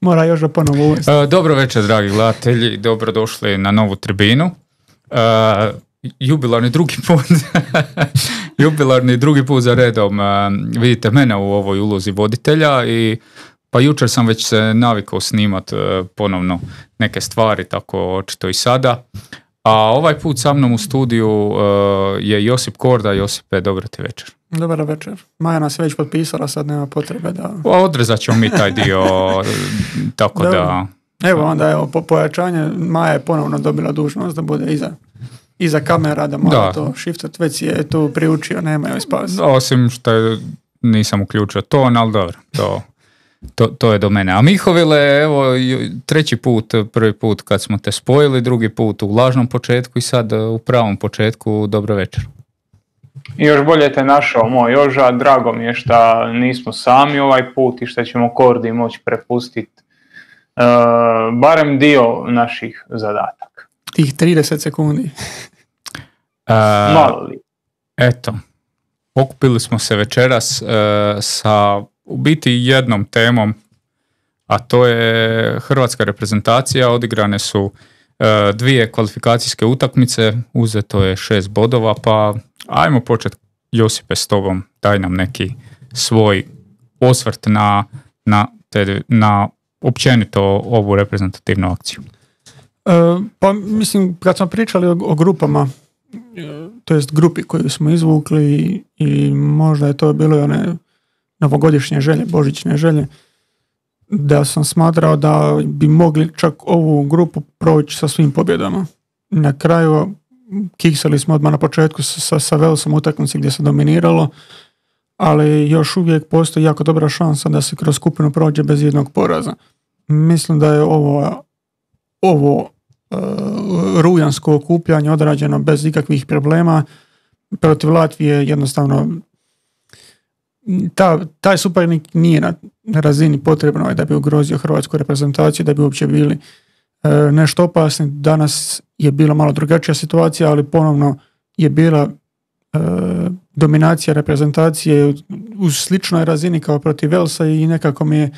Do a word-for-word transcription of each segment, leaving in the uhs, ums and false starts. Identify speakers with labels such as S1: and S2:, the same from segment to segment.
S1: Mora još da ponovo uvesti.
S2: Uh, dobro večer, dragi gledatelji, dobrodošli na novu tribinu. Uh, jubilarni drugi put, jubilarni drugi put za redom uh, vidite mene u ovoj ulozi voditelja i pa jučer sam već se navikao snimat uh, ponovno neke stvari, tako očito i sada. A ovaj put sa mnom u studiju uh, je Josip Korda. Josipe, dobro ti večer.
S1: Dobar večer. Maja nas već potpisala, sad nema potrebe da...
S2: Odrezat ćemo mi taj dio, tako
S1: Dobro.
S2: da...
S1: Evo onda, evo, po pojačanje, Maja je ponovno dobila dužnost da bude iza, iza kamera, da mora
S2: Da.
S1: to shiftat, već si je tu priučio, nema joj spas.
S2: Osim što je, nisam uključio ton, ali dobro, to, to, to je do mene. A Mihovile, evo, treći put, prvi put kad smo te spojili, drugi put u lažnom početku i sad u pravom početku, dobro večer.
S3: I još bolje te našao, moj Joža, drago mi je što nismo sami ovaj put i što ćemo Kordi moći prepustiti uh, barem dio naših zadataka.
S1: Tih trideset sekundi.
S2: E,
S3: Malo li?
S2: Eto, okupili smo se večeras e, sa u biti jednom temom, a to je hrvatska reprezentacija. Odigrane su e, dvije kvalifikacijske utakmice, uzeto je šest bodova, pa ajmo početi, Josipe, s tobom, daj nam neki svoj osvrt na, na, te, na općenito ovu reprezentativnu akciju.
S1: E, pa mislim, kad smo pričali o, o grupama, e, to jest grupi koju smo izvukli i, i možda je to bilo i one novogodišnje želje, božićne želje, da sam smatrao da bi mogli čak ovu grupu proći sa svim pobjedama. Na kraju kiksali smo odmah na početku sa, sa Velsom utakmici gdje se dominiralo, ali još uvijek postoji jako dobra šansa da se kroz skupinu prođe bez jednog poraza. Mislim da je ovo, ovo uh, rujansko okupljanje odrađeno bez ikakvih problema. Protiv Latvije jednostavno ta, taj suparnik nije na razini potrebno da bi ugrozio hrvatsku reprezentaciju, da bi uopće bili uh, nešto opasni. Danas je bila malo drugačija situacija, ali ponovno je bila uh, dominacija reprezentacije u sličnoj razini kao protiv Velsa i nekako mi je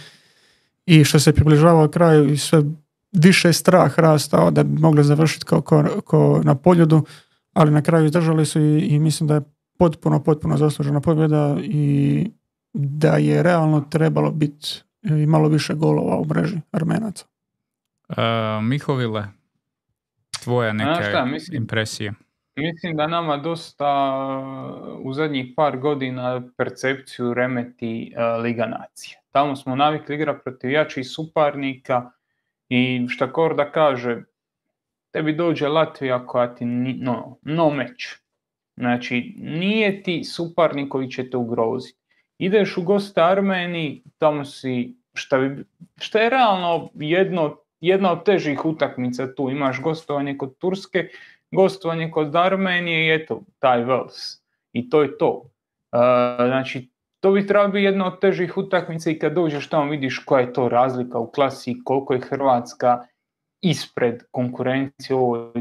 S1: i što se približavao kraju i sve više strah rastao da bi mogli završiti kao, kao, kao na poljudu, ali na kraju izdržali su i, i mislim da je potpuno, potpuno zaslužena pobjeda i da je realno trebalo biti i malo više golova u mreži Armenaca.
S2: Uh, Mihovile, tvoja neka
S3: šta, mislim-
S2: impresija.
S3: Mislim da nama dosta u zadnjih par godina percepciju remeti uh, Liga nacija. Tamo smo navikli igrati protiv jačih suparnika i šta Korda kaže, tebi dođe Latvija koja ti ni, no, no meč. Znači, nije ti suparnik koji će te ugroziti. Ideš u goste Armeniji, tamo si, šta, bi, šta je realno jedno, jedna od težih utakmica tu. Imaš gostovanje kod Turske, gostovanje kod Armenije i eto, taj Vels. I to je to. Uh, znači, to bi trebalo biti jedna od težih utakmica i kad dođeš tamo vidiš koja je to razlika u klasi, koliko je Hrvatska ispred konkurencije u ovoj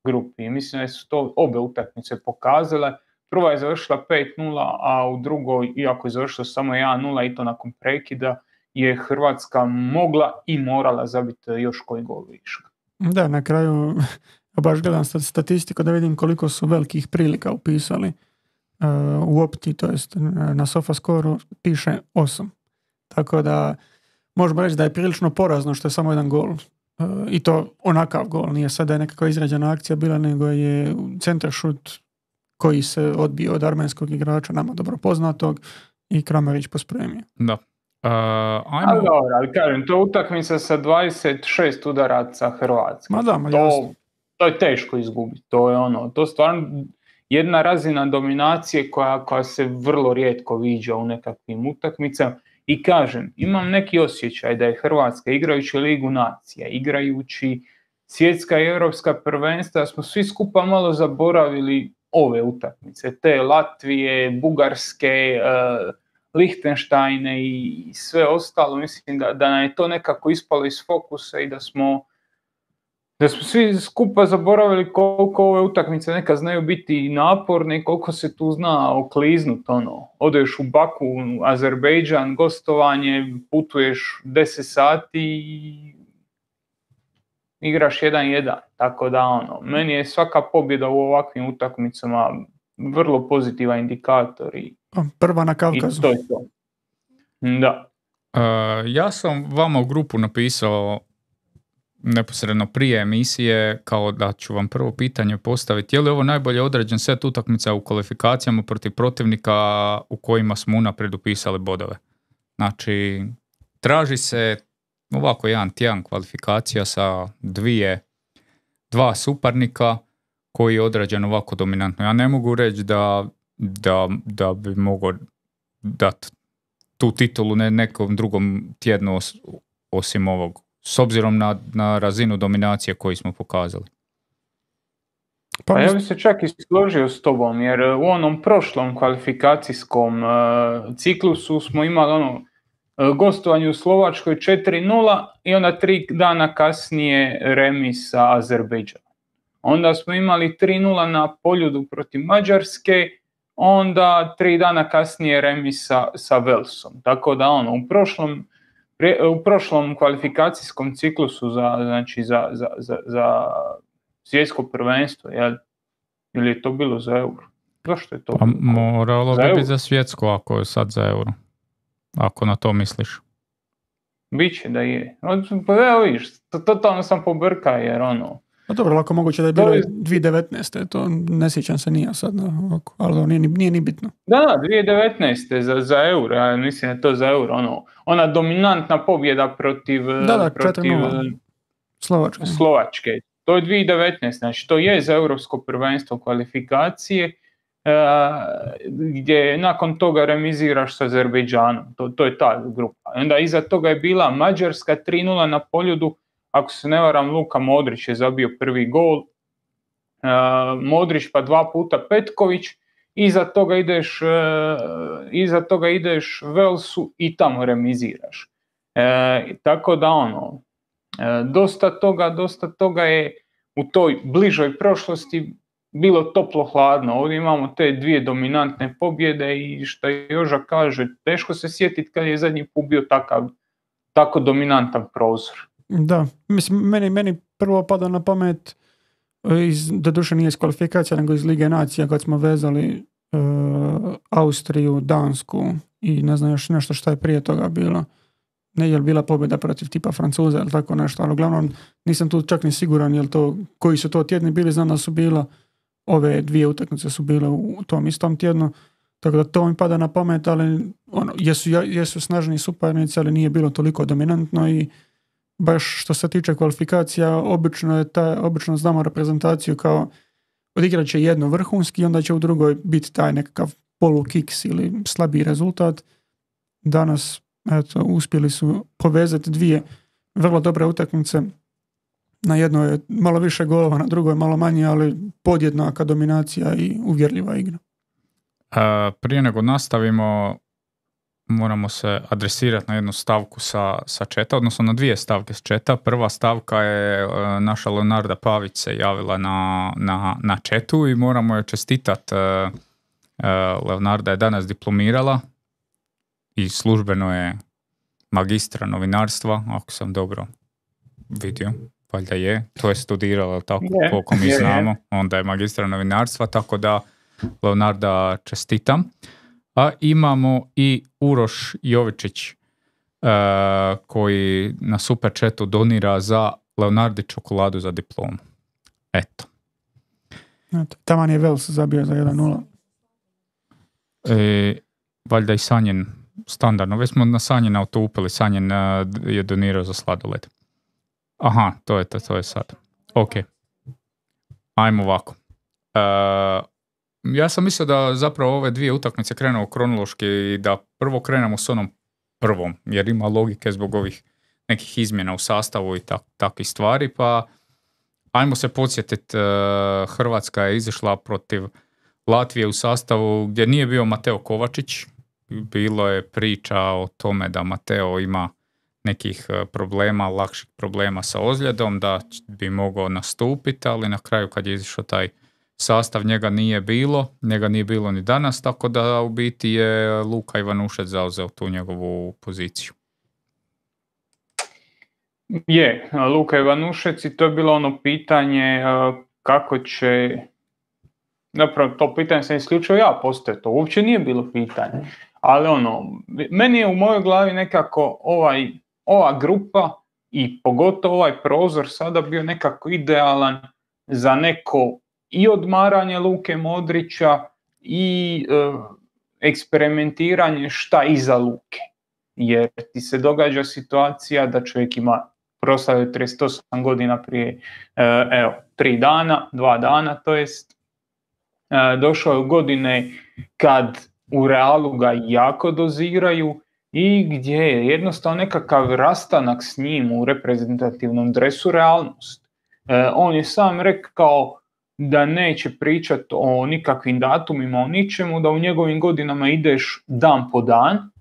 S3: grupi. I mislim da su to obe utakmice pokazale. Prva je završila pet nula, a u drugoj, iako je završila samo jedan nula i to nakon prekida, je Hrvatska mogla i morala zabiti još koji gol viška.
S1: Da, na kraju baš gledam statistiku da vidim koliko su velikih prilika upisali. Uh, u opti, to jest na SofaScore piše osam. Tako da možemo reći da je prilično porazno što je samo jedan gol. Uh, I to onakav gol. Nije sad da je nekakva izrađena akcija bila, nego je centar šut koji se odbio od armenskog igrača, nama dobro poznatog, i Kramarić pospremio.
S2: Da. Uh, ajmo...
S3: Ali dobro, ali kažem, to je utakmica sa dvadeset šest udaraca Hrvatske.
S1: Ma da, ma
S3: to,
S1: jasno.
S3: to je teško izgubiti. To je ono, to stvarno jedna razina dominacije koja, koja se vrlo rijetko viđa u nekakvim utakmicama. I kažem, imam neki osjećaj da je Hrvatska igrajući Ligu nacija, igrajući svjetska i europska prvenstva, smo svi skupa malo zaboravili ove utakmice, te Latvije, Bugarske, uh, Lihtenštajne i sve ostalo. Mislim da, da nam je to nekako ispalo iz fokusa i da smo da smo svi skupa zaboravili koliko ove utakmice nekad znaju biti naporne i koliko se tu zna okliznut, ono. Odeš u Baku, Azerbejdžan, gostovanje, putuješ deset sati i igraš jedan jedan. Tako da, ono, meni je svaka pobjeda u ovakvim utakmicama vrlo pozitivan indikator. I,
S1: Prva na Kavkazu.
S3: I to je to. Da.
S2: Uh, ja sam vama u grupu napisao neposredno prije emisije kao da ću vam prvo pitanje postaviti. Je li ovo najbolje odrađen set utakmica u kvalifikacijama protiv protivnika u kojima smo unaprijed upisali bodove? Znači, traži se ovako jedan tjedan kvalifikacija sa dvije, dva suparnika koji je odrađen ovako dominantno. Ja ne mogu reći da, da, da bi mogao dati tu titulu ne nekom drugom tjednu os, osim ovog, s obzirom na, na razinu dominacije koju smo pokazali.
S3: Pa, pa ja bih se čak i složio s tobom, jer u onom prošlom kvalifikacijskom uh, ciklusu smo imali ono uh, gostovanje u Slovačkoj četiri nula i onda tri dana kasnije remis sa Azerbejdžanom. Onda smo imali tri nula na Poljudu protiv Mađarske, onda tri dana kasnije remis sa, sa Velsom. Tako da ono, u prošlom, u prošlom kvalifikacijskom ciklusu za, znači za, za, za, za svjetsko prvenstvo, jel? Ili je to bilo za euro? Zašto je to?
S2: Pa moralo bi biti za svjetsko ako je sad za euro. Ako na to misliš.
S3: Biće da je. Pa evo viš, totalno sam pobrka jer ono,
S1: Pa dobro, lako moguće da je bilo dvije tisuće devetnaeste. To ne sjećam se nije sad, ovako, ali nije, nije ni bitno.
S3: Da, da, dvije tisuće devetnaeste za, za euro, ja mislim da je to za euro, ono, ona dominantna pobjeda protiv,
S1: da, da,
S3: protiv
S1: Slovačke.
S3: Slovačke. To je dvije tisuće devetnaeste, znači to je za europsko prvenstvo kvalifikacije, uh, gdje nakon toga remiziraš sa Azerbejdžanom, to, to je ta grupa. Onda iza toga je bila Mađarska tri nula na Poljudu. Ako se ne varam, Luka Modrić je zabio prvi gol, uh, Modrić pa dva puta Petković, iza toga ideš, uh, iza toga ideš Velsu i tamo remiziraš. Uh, tako da ono, uh, dosta toga, dosta toga je u toj bližoj prošlosti bilo toplo-hladno. Ovdje imamo te dvije dominantne pobjede i što Joža kaže, teško se sjetiti kad je zadnji put bio takav, tako dominantan prozor.
S1: Da, mislim, meni, meni prvo pada na pamet, iz, doduše nije iz kvalifikacija, nego iz Lige nacija, kad smo vezali uh, Austriju, Dansku i ne znam još nešto što je prije toga bilo. Ne je li bila pobjeda protiv tipa Francuza ili tako nešto, ali uglavnom nisam tu čak ni siguran jel to, koji su to tjedni bili, znam da su bila, ove dvije utakmice su bile u tom istom tjednu, tako da to mi pada na pamet, ali ono, jesu, jesu snažni suparnici, ali nije bilo toliko dominantno i baš što se tiče kvalifikacija, obično je ta, obično znamo reprezentaciju kao odigrat će jedno vrhunski i onda će u drugoj biti taj nekakav polukiks ili slabiji rezultat. Danas eto, uspjeli su povezati dvije vrlo dobre utakmice. Na jednoj je malo više golova, na drugoj malo manje, ali podjednaka dominacija i uvjerljiva igra.
S2: A, prije nego nastavimo, moramo se adresirati na jednu stavku sa, sa četa, odnosno na dvije stavke s četa. Prva stavka je uh, naša Leonarda Pavić se javila na, na, na četu i moramo joj čestitati. Uh, uh, Leonarda je danas diplomirala i službeno je magistra novinarstva, ako sam dobro vidio, valjda je. To je studirala tako
S3: je,
S2: koliko mi
S3: je,
S2: znamo,
S3: je.
S2: Onda je magistra novinarstva, tako da Leonarda čestitam. A imamo i Uroš Jovičić uh, koji na super chatu donira za Leonardi čokoladu za diplomu. Eto.
S1: Eto, taman je Vels zabio za jedan nula.
S2: E, valjda i Sanjen standardno. Već smo na Sanjena utupili. Sanjen uh, je donirao za sladoled. Aha, to je to, to je sad. Ok. Ajmo ovako. Uh, Ja sam mislio da zapravo ove dvije utakmice krenu kronološki i da prvo krenemo s onom prvom, jer ima logike zbog ovih nekih izmjena u sastavu i tak, takvih stvari, pa ajmo se podsjetiti, uh, Hrvatska je izašla protiv Latvije u sastavu gdje nije bio Mateo Kovačić, bilo je priča o tome da Mateo ima nekih problema, lakših problema sa ozljedom, da bi mogao nastupiti, ali na kraju kad je izišao taj sastav, njega nije bilo, njega nije bilo ni danas, tako da u biti je Luka Ivanušec zauzeo tu njegovu poziciju.
S3: Je, Luka Ivanušec, i to je bilo ono pitanje kako će, zapravo to pitanje sam isključio ja postoje, to uopće nije bilo pitanje, ali ono, meni je u mojoj glavi nekako ovaj, ova grupa i pogotovo ovaj prozor sada bio nekako idealan za neko i odmaranje Luke Modrića i e, eksperimentiranje šta iza Luke. Jer ti se događa situacija da čovjek ima proslavio trideset osam godina prije e, evo, tri dana, dva dana to jest, e, došao je u godine kad u Realu ga jako doziraju i gdje je jednostavno nekakav rastanak s njim u reprezentativnom dresu realnost. E, on je sam rekao da neće pričati o nikakvim datumima, o ničemu, da u njegovim godinama ideš dan po dan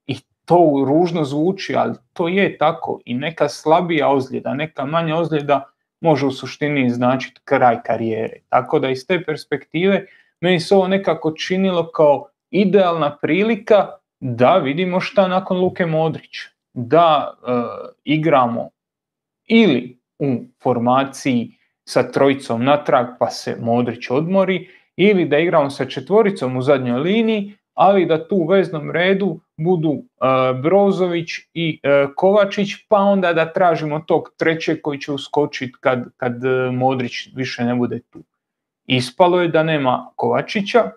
S3: i to ružno zvuči, ali to je tako i neka slabija ozljeda, neka manja ozljeda može u suštini značiti kraj karijere. Tako da iz te perspektive meni se ovo nekako činilo kao idealna prilika da vidimo šta nakon Luke Modrića. Da e, igramo ili u formaciji sa trojicom natrag pa se Modrić odmori, ili da igramo sa četvoricom u zadnjoj liniji, ali da tu u veznom redu budu e, Brozović i e, Kovačić, pa onda da tražimo tog trećeg koji će uskočiti kad, kad Modrić više ne bude tu. Ispalo je da nema Kovačića,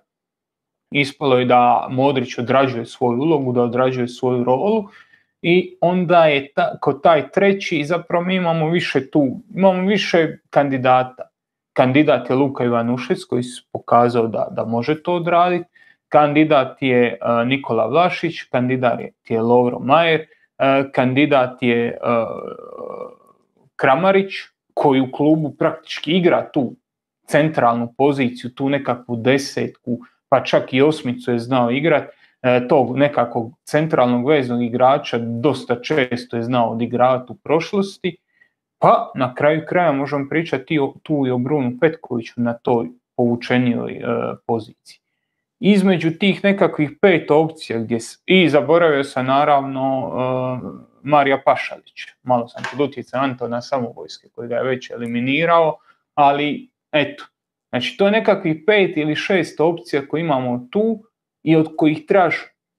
S3: ispalo je da Modrić odrađuje svoju ulogu, da odrađuje svoju rolu i onda je ta, kod taj treći zapravo mi imamo više tu, imamo više kandidata. Kandidat je Luka Ivanušec koji se pokazao da, da može to odraditi, kandidat je uh, Nikola Vlašić, kandidat je Lovro Majer, uh, kandidat je uh, Kramarić koji u klubu praktički igra tu centralnu poziciju, tu nekakvu desetku, pa čak i osmicu je znao igrati, e, tog nekakvog centralnog veznog igrača dosta često je znao odigravati u prošlosti, pa na kraju kraja možemo pričati o, tu i o Brunu Petkoviću na toj povučenijoj e, poziciji. Između tih nekakvih pet opcija gdje s, i zaboravio sam naravno e, Marija Pašalića, malo sam pod utjecajem Antona Samovojske koji ga je već eliminirao, ali eto, znači to je nekakvih pet ili šest opcija koje imamo tu i od kojih trebaš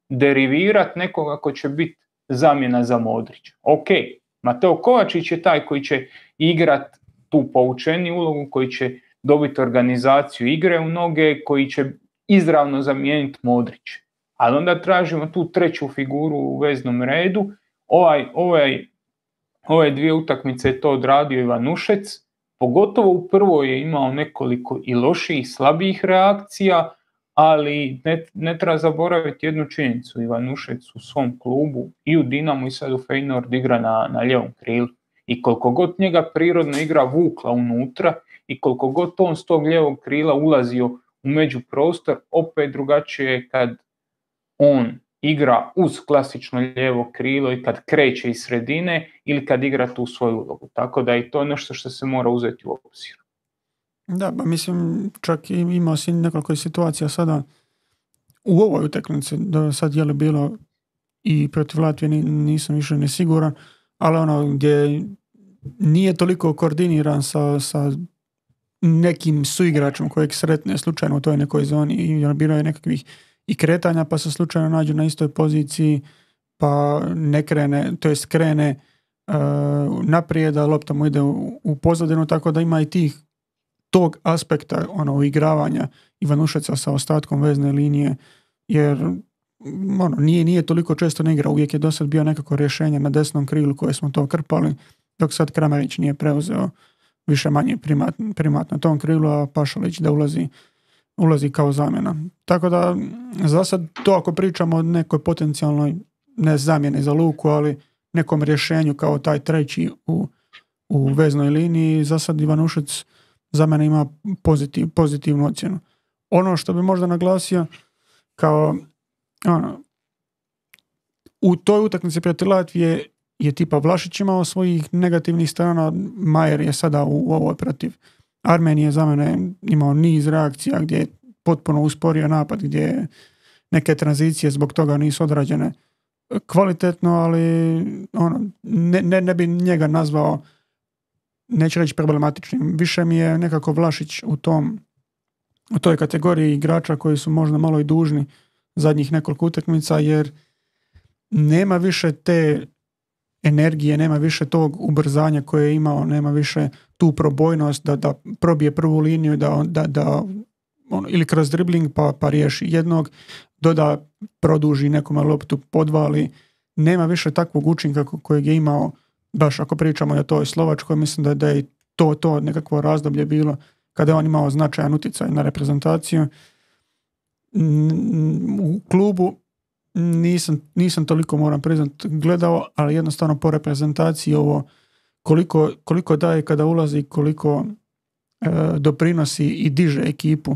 S3: derivirati nekoga ko će biti zamjena za Modrića. Ok, Mateo Kovačić je taj koji će igrati tu poučeni ulogu, koji će dobiti organizaciju igre u noge, koji će izravno zamijeniti Modrić. Ali onda tražimo tu treću figuru u veznom redu. Ovaj, ovaj, ove dvije utakmice je to odradio Ivanušec. Pogotovo u prvoj je imao nekoliko i loših, slabijih reakcija, ali ne, ne treba zaboraviti jednu činjenicu. Ivanušec u svom klubu i u Dinamu i sad u Feyenoord igra na, na lijevom krilu. I koliko god njega prirodna igra vukla unutra i koliko god on s tog lijevog krila ulazio u međuprostor, opet drugačije je kad on igra uz klasično lijevo krilo i kad kreće iz sredine ili kad igra tu svoju ulogu. Tako da je to nešto što se mora uzeti u obzir.
S1: Da, ba mislim, čak i imao si nekoliko situacija sada u ovoj utakmici, da sad je li bilo i protiv Latvije, nisam više nesiguran, ali ono gdje nije toliko koordiniran sa, sa nekim suigračom kojeg sretne slučajno u toj nekoj zoni i bilo je nekakvih i kretanja pa se slučajno nađu na istoj poziciji pa ne krene, to jest krene uh, naprijed, a lopta mu ide u, u pozadinu, tako da ima i tih tog aspekta ono uigravanja Ivanušeca sa ostatkom vezne linije, jer ono, nije, nije toliko često ne igra, uvijek je do sad bio nekako rješenje na desnom krilu koje smo to krpali, dok sad Kramarić nije preuzeo više manje primat, primat na tom krilu, a Pašalić da ulazi ulazi kao zamjena. Tako da za sad to ako pričamo o nekoj potencijalnoj ne zamjene za Luku, ali nekom rješenju kao taj treći u, u veznoj liniji, za sad Ivanušec za mene ima pozitiv, pozitivnu ocjenu. Ono što bi možda naglasio kao ono, u toj utakmici protiv Latvije je tipa Vlašić imao svojih negativnih strana, Majer je sada u, u ovoj protiv Armenije za mene imao niz reakcija gdje je potpuno usporio napad, gdje neke tranzicije zbog toga nisu odrađene kvalitetno, ali ono, ne, ne, ne bi njega nazvao, neću reći problematičnim. Više mi je nekako Vlašić u tom u toj kategoriji igrača koji su možda malo i dužni zadnjih nekoliko utakmica, jer nema više te energije, nema više tog ubrzanja koje je imao, nema više tu probojnost da, da probije prvu liniju, da, da, da on, ili kroz dribling pa, pa riješi jednog, doda, produži nekome loptu, podvali. Nema više takvog učinka kojeg je imao, baš ako pričamo o toj Slovačkoj, mislim da, da je to, to nekakvo razdoblje bilo kada je on imao značajan utjecaj na reprezentaciju. U klubu nisam, nisam toliko, moram priznat, gledao, ali jednostavno po reprezentaciji ovo koliko, koliko daje kada ulazi, koliko e, doprinosi i diže ekipu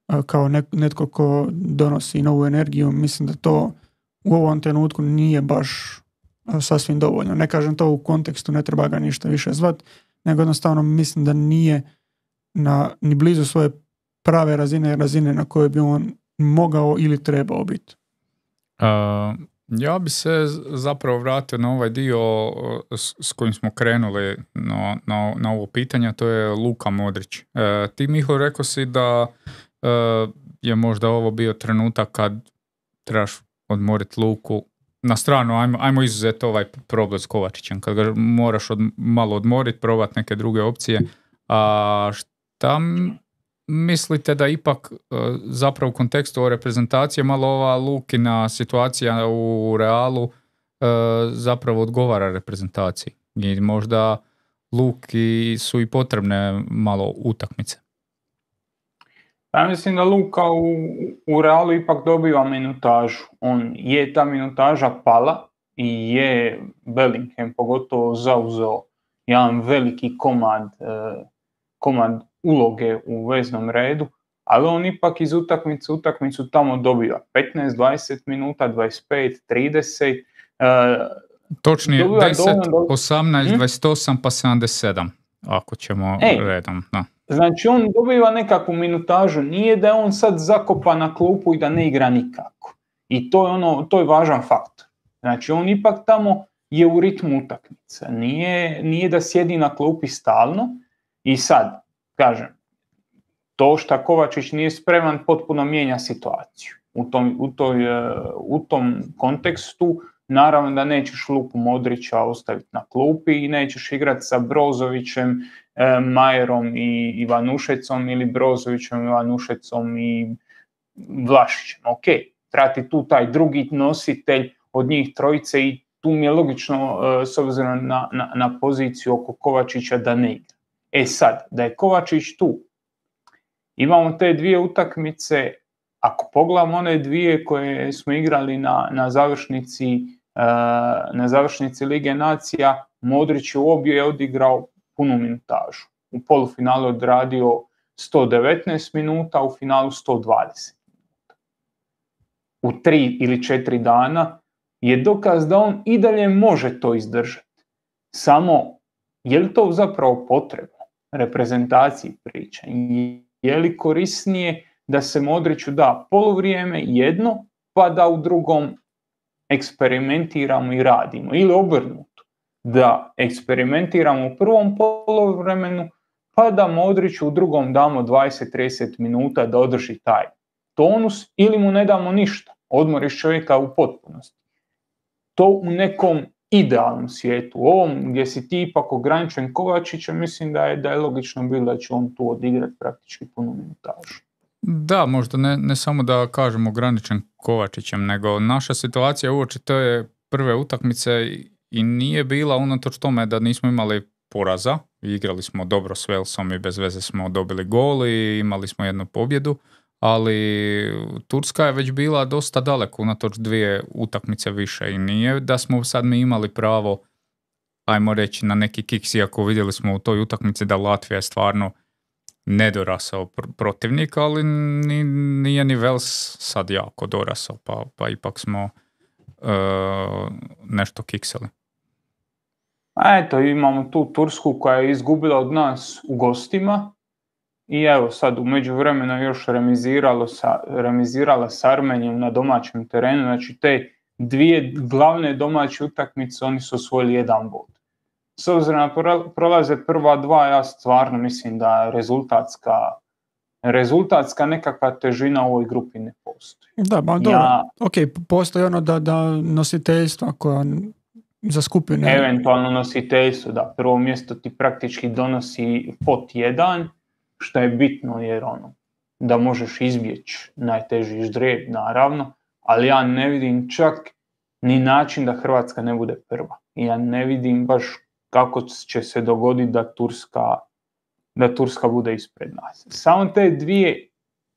S1: e, kao ne, netko ko donosi novu energiju, mislim da to u ovom trenutku nije baš e, sasvim dovoljno. Ne kažem to u kontekstu, ne treba ga ništa više zvat, nego jednostavno mislim da nije na, ni blizu svoje prave razine, razine na koje bi on mogao ili trebao biti.
S2: Uh, ja bi se zapravo vratio na ovaj dio s, s kojim smo krenuli na, na, na ovo pitanje, to je Luka Modrić. Uh, ti, Miho, rekao si da uh, je možda ovo bio trenutak kad trebaš odmoriti Luku. Na stranu, ajmo, ajmo izuzeti ovaj problem s Kovačićem, kad ga moraš od, malo odmoriti, probati neke druge opcije. A šta mislite da ipak zapravo u kontekstu ove reprezentacije malo ova Lukina situacija u Realu zapravo odgovara reprezentaciji i možda Luki su i potrebne malo utakmice?
S3: Ja mislim da Luka u, u Realu ipak dobiva minutažu. On je ta minutaža pala i je Bellingham pogotovo zauzeo jedan veliki komad, komad uloge u veznom redu, ali on ipak iz utakmice utakmicu tamo dobiva petnaest, dvadeset minuta, dvadeset pet, trideset.
S2: Točnije deset, osamnaest, dvadeset osam pa sedamdeset sedam, ako ćemo Ej, redom. No.
S3: Znači on dobiva nekakvu minutažu, nije da je on sad zakopa na klupu i da ne igra nikako. I to je, ono, to je važan faktor. Znači on ipak tamo je u ritmu utakmice, nije, nije da sjedi na klupi stalno i sad, kažem, to što Kovačić nije spreman potpuno mijenja situaciju. U tom, u toj, u tom kontekstu naravno da nećeš Luku Modrića ostaviti na klupi i nećeš igrati sa Brozovićem, e, Majerom i Ivanušecom ili Brozovićem, Ivanušecom i Vlašićem. Ok, trati tu taj drugi nositelj od njih trojice i tu mi je logično e, s obzirom na, na, na poziciju oko Kovačića da ne igra. E sad, da je Kovačić tu, imamo te dvije utakmice, ako pogledamo one dvije koje smo igrali na, na, završnici, na završnici Lige nacija, Modrić u obje je odigrao punu minutažu. U polufinalu je odradio sto devetnaest minuta, u finalu sto dvadeset minuta. U tri ili četiri dana je dokaz da on i dalje može to izdržati. Samo, je li to zapravo potrebno? Reprezentaciji priča. Je li korisnije da se Modriću da poluvrijeme jedno, pa da u drugom eksperimentiramo i radimo? Ili obrnuto, da eksperimentiramo u prvom poluvremenu, pa da Modriću u drugom damo dvadeset do trideset minuta da održi taj tonus, ili mu ne damo ništa, odmoriš čovjeka u potpunosti. To u nekom idealnom svijetu. U ovom gdje si ti ipak ograničen Kovačićem, mislim da je, da je logično bilo da će on tu odigrati praktički punu minutažu.
S2: Da, možda ne, ne samo da kažemo ograničen Kovačićem, nego naša situacija uoči te prve utakmice i nije bila unatoč tome da nismo imali poraza. Igrali smo dobro s Walesom i bez veze smo dobili gol i imali smo jednu pobjedu, ali Turska je već bila dosta daleko unatoč dvije utakmice više i nije da smo sad mi imali pravo, ajmo reći, na neki kiks, iako vidjeli smo u toj utakmici da Latvija je stvarno nedorasao pr- protivnik, ali ni, nije ni Wales sad jako dorasao, pa, pa ipak smo uh, nešto kiksali.
S3: A eto, imamo tu Tursku koja je izgubila od nas u gostima i evo sad u međuvremenu još remiziralo sa, remizirala s Armenijom na domaćem terenu, znači te dvije glavne domaće utakmice oni su osvojili jedan bod. S obzirom na prolaze prva dva, ja stvarno mislim da rezultatska, rezultatska nekakva težina u ovoj grupi ne postoji.
S1: Da, ba dobro,
S3: ja,
S1: ok, postoji ono da, da nositeljstva koja za skupine...
S3: Eventualno nositeljstvo, da, prvo mjesto ti praktički donosi pot jedan, što je bitno jer ono, da možeš izbjeći najteži ždrijeb, naravno, ali ja ne vidim čak ni način da Hrvatska ne bude prva. Ja ne vidim baš kako će se dogoditi da Turska, da Turska bude ispred nas. Samo te dvije,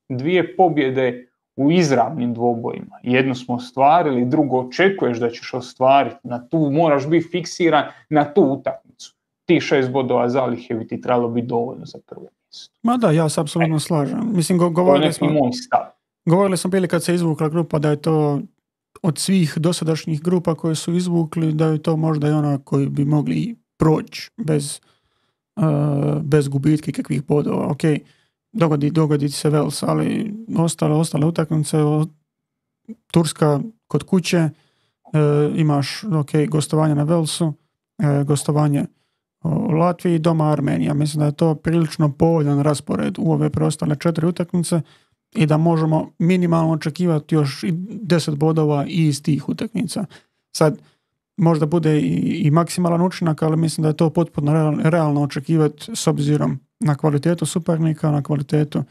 S3: dvije pobjede u izravnim dvobojima. Jednu smo ostvarili, drugo očekuješ da ćeš ostvariti. Na tu moraš biti fiksiran na tu utakmicu. Ti šest bodova zalihe bi ti trebalo biti dovoljno za prvo mjesto.
S1: Ma da, ja se apsolutno slažem. Mislim, go- govorili smo...
S3: moj stav.
S1: Govorili smo bili kad se izvukla grupa da je to od svih dosadašnjih grupa koje su izvukli, da je to možda i ona koji bi mogli proći bez, uh, bez gubitke kakvih bodova. Ok, dogodi, dogodi se Wales, ali ostale, ostale utakmice, Turska kod kuće, uh, imaš ok, gostovanje na Walesu, uh, gostovanje u Latviji, doma Armenija. Mislim da je to prilično povoljan raspored u ove preostale četiri utakmice i da možemo minimalno očekivati još i deset bodova i iz tih utakmica. Sad, možda bude i, i maksimalan učinak, ali mislim da je to potpuno real, realno očekivati s obzirom na kvalitetu suparnika, na kvalitetu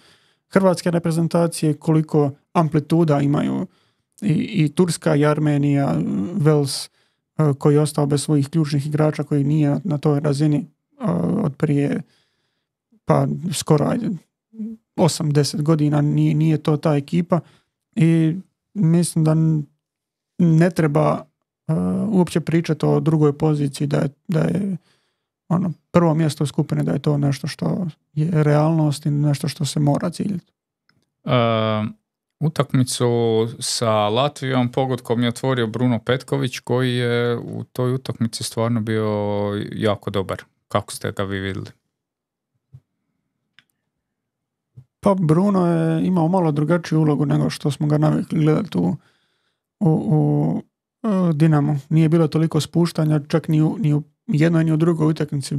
S1: hrvatske reprezentacije, koliko amplituda imaju i, i Turska i Armenija, Wales koji je ostao bez svojih ključnih igrača, koji nije na toj razini od prije pa skoro ajde, osam deset godina, nije, nije to ta ekipa i mislim da ne treba uh, uopće pričati o drugoj poziciji, da je, da je ono, prvo mjesto u skupine, da je to nešto što je realnost i nešto što se mora ciljiti.
S2: Uh, utakmicu sa Latvijom pogodkom je otvorio Bruno Petković, koji je u toj utakmici stvarno bio jako dobar. Kako ste ga vi vidjeli?
S1: Pa Bruno je imao malo drugačiju ulogu nego što smo ga navikli gledati u, u, u, u Dinamu. Nije bilo toliko spuštanja, čak ni u, ni u jednoj ni u drugoj utakmici.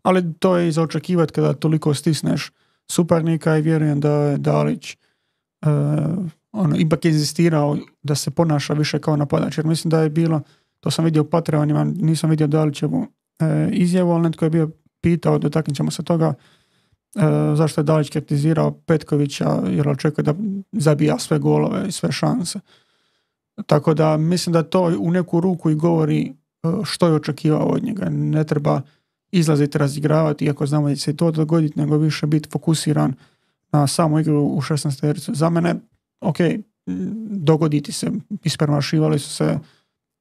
S1: Ali to je i za očekivati kada toliko stisneš suparnika i vjerujem da je Dalić uh, ono, ipak inzistirao da se ponaša više kao napadač. Jer mislim da je bilo, to sam vidio u Patreonima, nisam vidio Dalićevu uh, izjavu, ali netko je bio pitao, dotaknut ćemo se toga, Uh, zašto je Dalić kritizirao Petkovića jer očekuje da zabija sve golove i sve šanse. Tako da mislim da to u neku ruku i govori uh, što je očekivao od njega. Ne treba izlaziti, razigravati, iako znamo da će se to dogoditi, nego više biti fokusiran na samu igru u šesnaestericu. Za mene, ok, dogoditi se, ispremašivali su se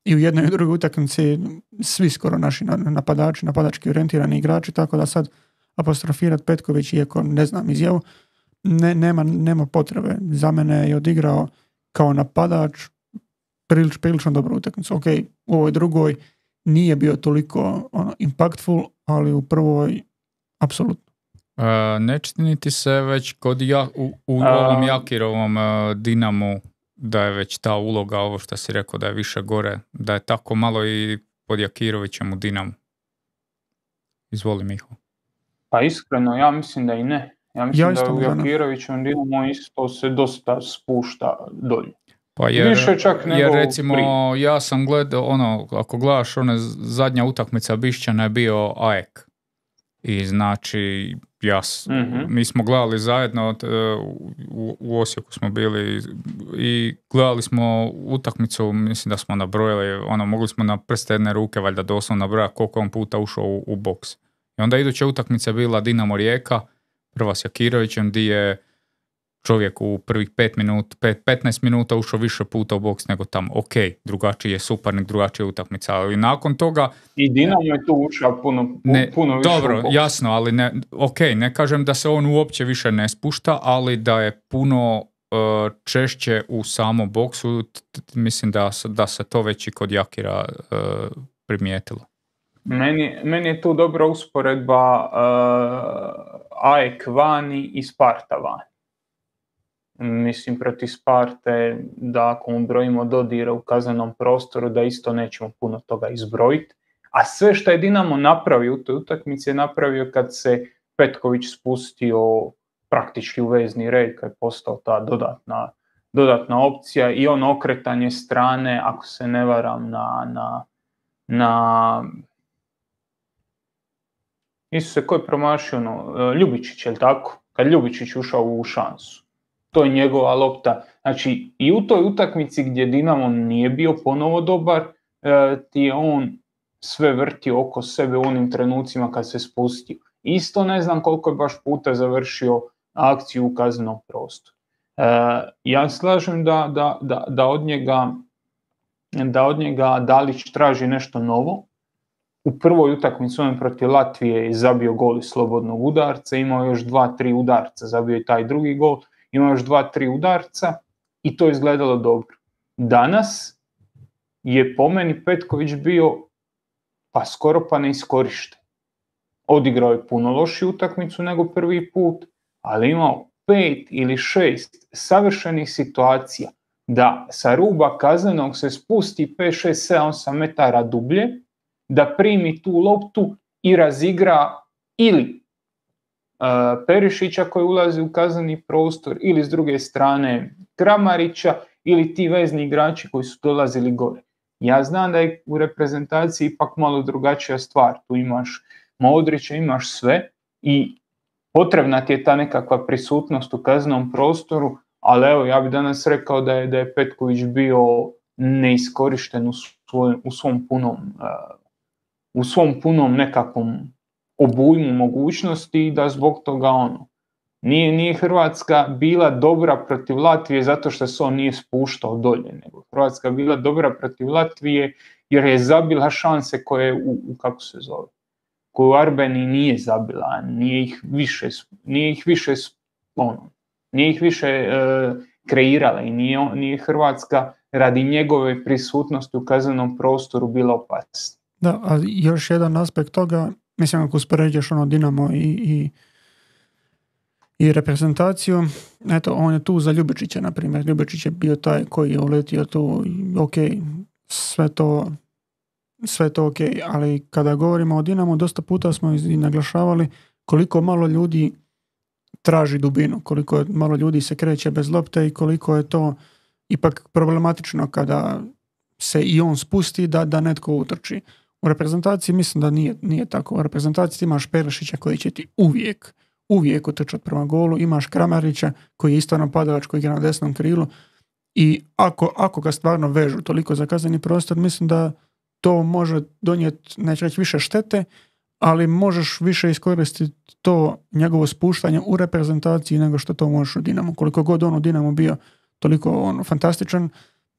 S1: i u jednoj i u drugoj utakmici svi skoro naši napadači, napadački orijentirani igrači, tako da sad apostrofirati Petković, iako ne znam izjavu, ne, nema, nema potrebe. Za mene je odigrao kao napadač prilič, prilično dobru utakmicu. Ok, u ovoj drugoj nije bio toliko ono, impactful, ali u prvoj apsolutno.
S2: Uh, ne čini ti se već kod ja, u, u ovom Jakirovom uh, Dinamu da je već ta uloga, ovo što si rekao da je više gore, da je tako malo i pod Jakirovićem u Dinamu? Izvoli, Miho.
S3: Pa iskreno, ja mislim da i ne. Ja mislim
S1: ja
S3: da u Jakirovićem Dinamo isto se dosta spušta dolje.
S2: Pa jer,
S3: više čak nego
S2: jer recimo
S3: prije.
S2: Ja sam gledao, ono, ako gledaš, ona zadnja utakmica Bišćana je bio A E K. I znači, ja, mm-hmm. mi smo gledali zajedno, u, u Osijeku smo bili i gledali smo utakmicu, mislim da smo nabrojali, ono, mogli smo na prste jedne ruke, valjda doslovno nabrojati koliko on puta ušao u, u boks. I onda iduća utakmica bila Dinamo Rijeka, prva s Jakirovićem, gdje je čovjek u prvih pet minuta, pet, petnaest minuta ušao više puta u boks nego tamo. Ok, drugačiji je suparnik, drugačija je utakmica, ali nakon toga...
S3: I Dinamo je tu ušao puno,
S2: ne,
S3: puno više
S2: dobro,
S3: u boks.
S2: Jasno, ali ne, ok, ne kažem da se on uopće više ne spušta, ali da je puno uh, češće u samom boksu, t- t- mislim da, da se to već i kod Jakira uh, primijetilo.
S3: Meni, meni je tu dobra usporedba uh, A E K vani i Sparta vani. Mislim, protiv Sparte, da ako mu brojimo dodira u kaznenom prostoru, da isto nećemo puno toga izbrojiti. A sve što je Dinamo napravio u toj utakmici je napravio kad se Petković spustio praktički u vezni red, kad je postao ta dodatna, dodatna opcija i ono okretanje strane, ako se ne varam, na... na, na Isuse, ko je promašio ono? Ljubičić, je li tako? Kad Ljubičić ušao u šansu. To je njegova lopta. Znači, i u toj utakmici gdje Dinamo nije bio ponovo dobar, e, ti je on sve vrtio oko sebe u onim trenucima kad se spustio. Isto ne znam koliko je baš puta završio akciju u kaznenom prostoru. E, ja slažem da, da, da, da, od njega, da od njega Dalić traži nešto novo. U prvoj utakmici on protiv Latvije je zabio gol iz slobodnog udarca, imao još dva, tri udarca, zabio je taj drugi gol, imao još dva, tri udarca i to je izgledalo dobro. Danas je po meni Petković bio pa skoro pa neiskorišten. Odigrao je puno lošiju utakmicu nego prvi put, ali imao pet ili šest savršenih situacija da sa ruba kaznenog se spusti pet, šest, sedam, osam metara dublje, da primi tu loptu i razigra ili uh, Perišića koji ulazi u kazneni prostor, ili s druge strane Kramarića, ili ti vezni igrači koji su dolazili gore. Ja znam da je u reprezentaciji ipak malo drugačija stvar. Tu imaš Modrića, imaš sve i potrebna ti je ta nekakva prisutnost u kaznenom prostoru, ali evo, ja bih danas rekao da je, da je Petković bio neiskorišten u, svoj, u svom punom uh, u svom punom nekakvom obujmu mogućnosti i da zbog toga ono, nije, nije Hrvatska bila dobra protiv Latvije zato što se on nije spuštao dolje, nego Hrvatska bila dobra protiv Latvije jer je zabila šanse koje u, u kako se zove, koju Arbeni nije zabila, nije ih više, nije ih više, ono, nije ih više e, kreirala i nije, nije Hrvatska radi njegove prisutnosti u kaznenom prostoru bila opasna.
S1: Da, a još jedan aspekt toga, mislim ako uspoređuješ ono Dinamo i, i, i reprezentaciju, eto, on je tu za Ljubičića, na primjer. Ljubičić je bio taj koji je uletio tu, ok, sve to, sve to ok, ali kada govorimo o Dinamu, dosta puta smo i naglašavali koliko malo ljudi traži dubinu, koliko malo ljudi se kreće bez lopte i koliko je to ipak problematično kada se i on spusti da, da netko utrči. U reprezentaciji mislim da nije, nije tako. U reprezentaciji imaš Perišića koji će ti uvijek, uvijek utrčati prema golu, imaš Kramarića koji je isto napadač koji igra na desnom krilu i ako, ako ga stvarno vežu toliko za kazneni prostor, mislim da to može donijeti, neće reći više štete, ali možeš više iskoristiti to njegovo spuštanje u reprezentaciji nego što to možeš u Dinamu. Koliko god on u Dinamu bio toliko on, fantastičan,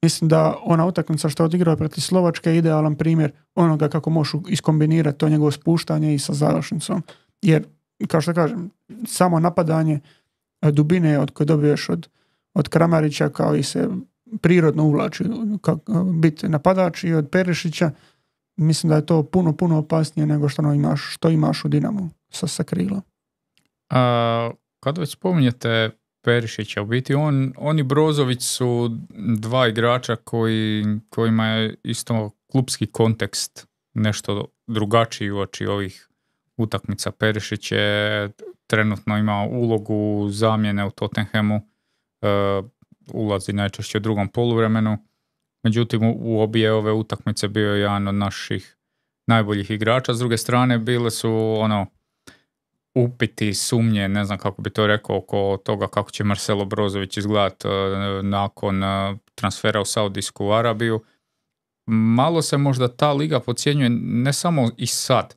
S1: mislim da ona utakmica što je odigrao protiv Slovačke je idealan primjer onoga kako možeš iskombinirati to njegovo spuštanje i sa završnicom. Jer, kao što kažem, samo napadanje dubine od koje dobiješ od, od Kramarića kao i se prirodno uvlači biti napadač i od Perišića, mislim da je to puno, puno opasnije nego što, ono imaš, što imaš u Dinamu sa, sa krila.
S2: A, kad već spominjete Perišića, u biti on, on i Brozović su dva igrača koji, kojima je isto klupski kontekst nešto drugačiji uoči ovih utakmica. Perišić je trenutno ima ulogu zamjene u Tottenhamu, uh, ulazi najčešće u drugom poluvremenu, međutim u, u obje ove utakmice bio je jedan od naših najboljih igrača. S druge strane bile su ono upiti, sumnje, ne znam kako bi to rekao, oko toga kako će Marcelo Brozović izgledati uh, nakon uh, transfera u Saudijsku Arabiju. Malo se možda ta liga podcjenjuje ne samo i sad,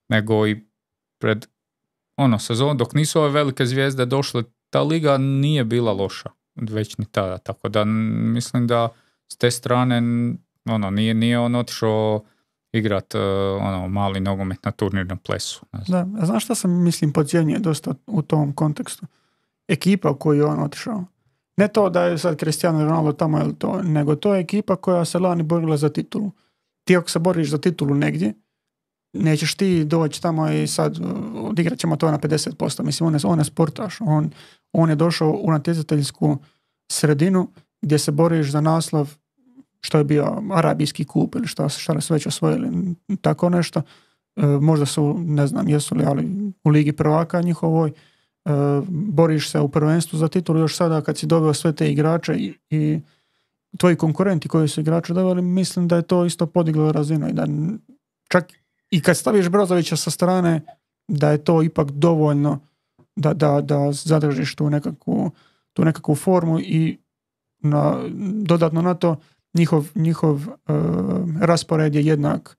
S2: nego i pred ono sezon, dok nisu ove velike zvijezde došle, ta liga nije bila loša, već ni tada, tako da mislim da s te strane ono, nije, nije on otišao igrat uh, ono, mali nogomet na turnirnom plesu.
S1: Da, a znaš šta sam mislim podcjenjuje dosta u tom kontekstu? Ekipa u koju je on otišao. Ne to da je sad Cristiano Ronaldo tamo ili to, nego to je ekipa koja se lani borila za titulu. Ti ako se boriš za titulu negdje, nećeš ti doći tamo i sad odigrat ćemo to na pedeset posto. Mislim, on je, on je sportaš. On, on je došao u natjecateljsku sredinu gdje se boriš za naslov što je bio arabijski kup ili šta, šta su već osvojili. Tako nešto. E, možda su, ne znam jesu li, ali u Ligi prvaka njihovoj. E, boriš se u prvenstvu za titulu još sada kad si doveo sve te igrače i, i tvoji konkurenti koji su igrače doveli, mislim da je to isto podiglo razinu i da čak i kad staviš Brozovića sa strane, da je to ipak dovoljno da, da, da zadržiš tu nekakvu, tu nekakvu formu i na, dodatno na to njihov, njihov uh, raspored je jednak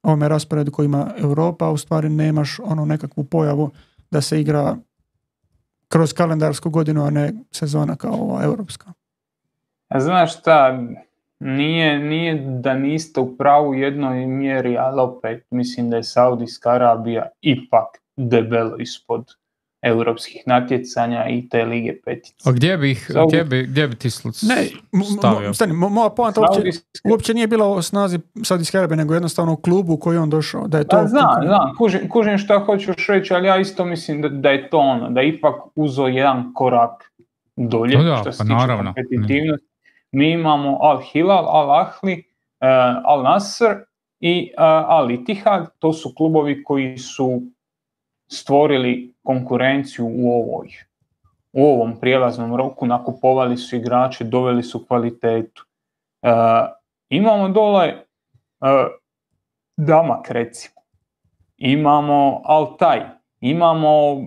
S1: ovome rasporedu koji ima Europa, a u stvari nemaš onu nekakvu pojavu da se igra kroz kalendarsku godinu, a ne sezona kao ova europska.
S3: A znaš šta, nije, nije da niste u pravu jednoj mjeri, ali opet mislim da je Saudijska Arabija ipak debelo ispod europskih natjecanja i te Lige petice.
S2: A gdje bi,
S3: Saudi...
S2: gdje bi, gdje bi ti stavio?
S1: Mo, stani, mo, moja poanta uopće,
S3: Saudijske...
S1: uopće nije bila o snazi Saudijske Arabije, nego jednostavno u klubu u koji on došao. Da je to
S3: pa znam, znam, kužim, kužim šta hoćeš reći, ali ja isto mislim da, da je to ono, da je ipak uzo jedan korak dolje,
S2: no da,
S3: što se
S2: pa
S3: tiče
S2: naravno.
S3: kompetitivnosti. Mi imamo Al Hilal, Al Ahli, uh, Al Nasr i uh, Al Ittihad, to su klubovi koji su stvorili konkurenciju u ovoj, u ovom prijelaznom roku, nakupovali su igrače, doveli su kvalitetu. Uh, imamo dole uh, Damak recimo, imamo Al Taj, imamo uh,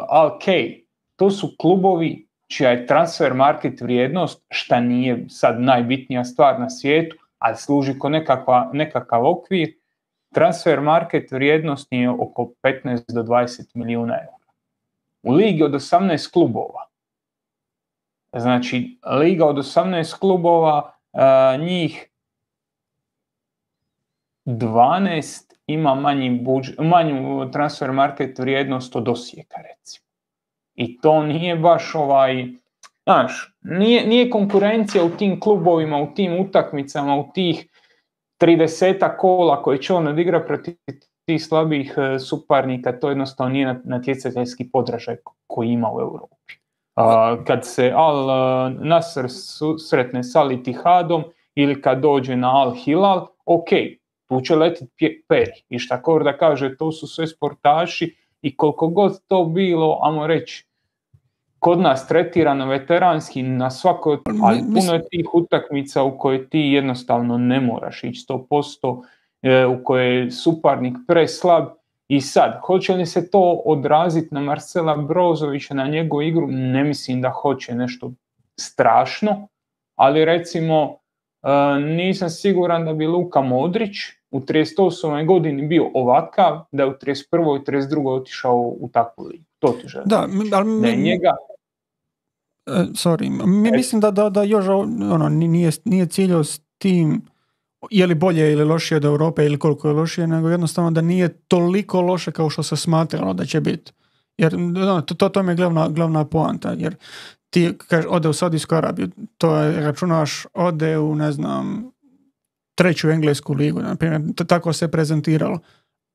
S3: Al Kej, to su klubovi čija je transfer market vrijednost, šta nije sad najbitnija stvar na svijetu, ali služi ko nekakva, nekakav okvir, transfer market vrijednost je oko petnaest do dvadeset milijuna eura. U ligi od osamnaest klubova, znači liga od osamnaest klubova, njih dvanaest ima manji budžet, manju transfer market vrijednost od Osijeka recimo. I to nije baš ovaj, znaš, nije, nije konkurencija u tim klubovima, u tim utakmicama, u tih trideset kola koje će on odigra protiv tih slabih suparnika, to jednostavno nije natjecateljski podražaj koji ima u Europi. A, kad se Al Nasr sretne s Al Ittihadom ili kad dođe na Al Hilal, ok, tu će letiti peri. I šta Korda kaže, to su sve sportaši i koliko god to bilo, ajmo reći, kod nas tretirano veteranski na svakoj, ali puno je tih utakmica u koje ti jednostavno ne moraš ići sto posto, u koje je suparnik preslab. I sad, hoće li se to odraziti na Marcela Brozovića, na njegovu igru? Ne mislim da hoće nešto strašno, ali recimo nisam siguran da bi Luka Modrić u trideset osmoj godini bio ovakav, da je u trideset prvoj i trideset drugoj otišao u takvu ligu. To ti želim.
S1: Da, ali
S3: da je njega...
S1: Uh, sorry, mi, mislim da, da, da još ono, nije, nije ciljao s tim je li bolje ili lošije od Europe ili koliko je lošije, nego jednostavno da nije toliko loše kao što se smatralo da će biti. Jer no, to, to, to mi je glavna, glavna poanta, jer ti kaže, ode u Saudijsku Arabiju, to je, računaš, ode u, ne znam, treću englesku ligu, na primjer, tako se prezentiralo.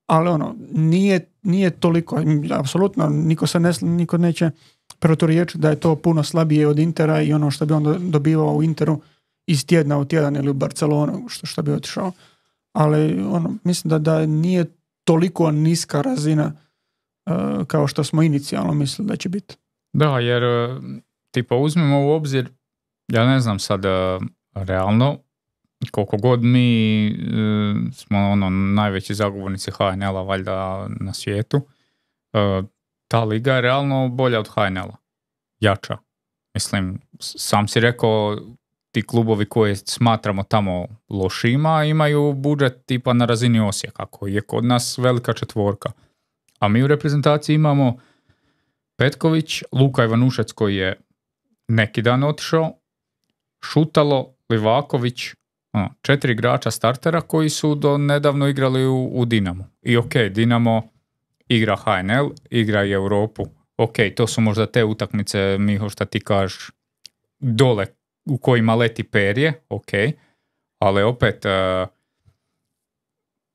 S1: Ali ono, nije, nije toliko, apsolutno, niko se ne, niko neće proturječiti da je to puno slabije od Intera i ono što bi on dobivao u Interu iz tjedna u tjedan ili u Barcelonu, što, što bi otišao. Ali ono, mislim da, da nije toliko niska razina uh, kao što smo inicijalno mislili da će biti.
S2: Da, jer tipa uzmemo u obzir, ja ne znam sad realno, koliko god mi e, smo ono najveći zagovornici H N L-a valjda na svijetu, e, ta liga je realno bolja od H N L-a. Jača. Mislim, sam si rekao, ti klubovi koje smatramo tamo lošima imaju budžet tipa na razini Osijeka, koji je kod nas velika četvorka. A mi u reprezentaciji imamo Petković, Luka Ivanušec koji je neki dan otišao, Šutalo, Livaković, ono, četiri igrača startera koji su do nedavno igrali u, u Dinamu. I ok, Dinamo igra H N L, igra i Europu. Ok, to su možda te utakmice, Miho, šta ti kažeš, dole u kojima leti perje, ok, ali opet uh,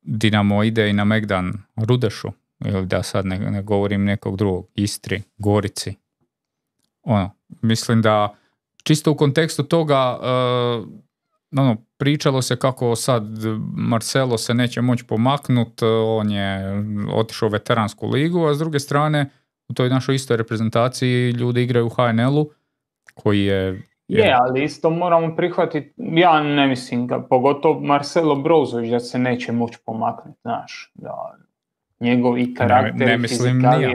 S2: Dinamo ide i na Megdan Rudešu, ili da sad ne, ne govorim nekog drugog, Istri, Gorici. Ono, mislim da čisto u kontekstu toga uh, ono, pričalo se kako sad Marcelo se neće moći pomaknut, on je otišao u veteransku ligu, a s druge strane u toj našoj istoj reprezentaciji ljudi igraju u H N L-u koji je...
S3: Je, ali isto moramo prihvatiti, ja ne mislim ga, pogotovo Marcelo Brozović da se neće moći pomaknuti, znaš, da njegovi karakteri,
S2: ne, ne mislim nija.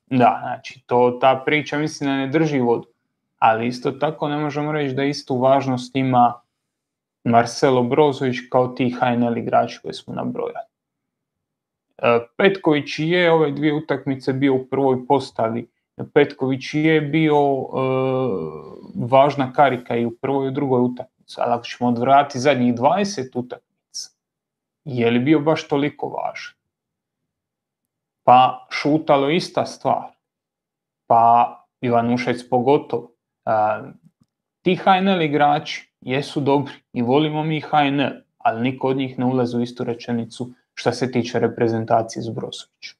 S3: Da, znači, to, ta priča mislim da ne drži vodu, ali isto tako ne možemo reći da istu važnost ima Marcelo Brozović kao ti H N L igrači koje smo nabrojali. Petković je ove dvije utakmice bio u prvoj postavi. Petković je bio e, važna karika i u prvoj i u drugoj utakmici, ali ako ćemo odvratiti zadnjih dvadeset utakmica, je li bio baš toliko važan? Pa Šutalo ista stvar, pa Ivanušec pogotovo. E, ti H N L igrači jesu dobri i volimo mi H N L, ali niko od njih ne ulazi u istu rečenicu što se tiče reprezentacije s Brozovićem.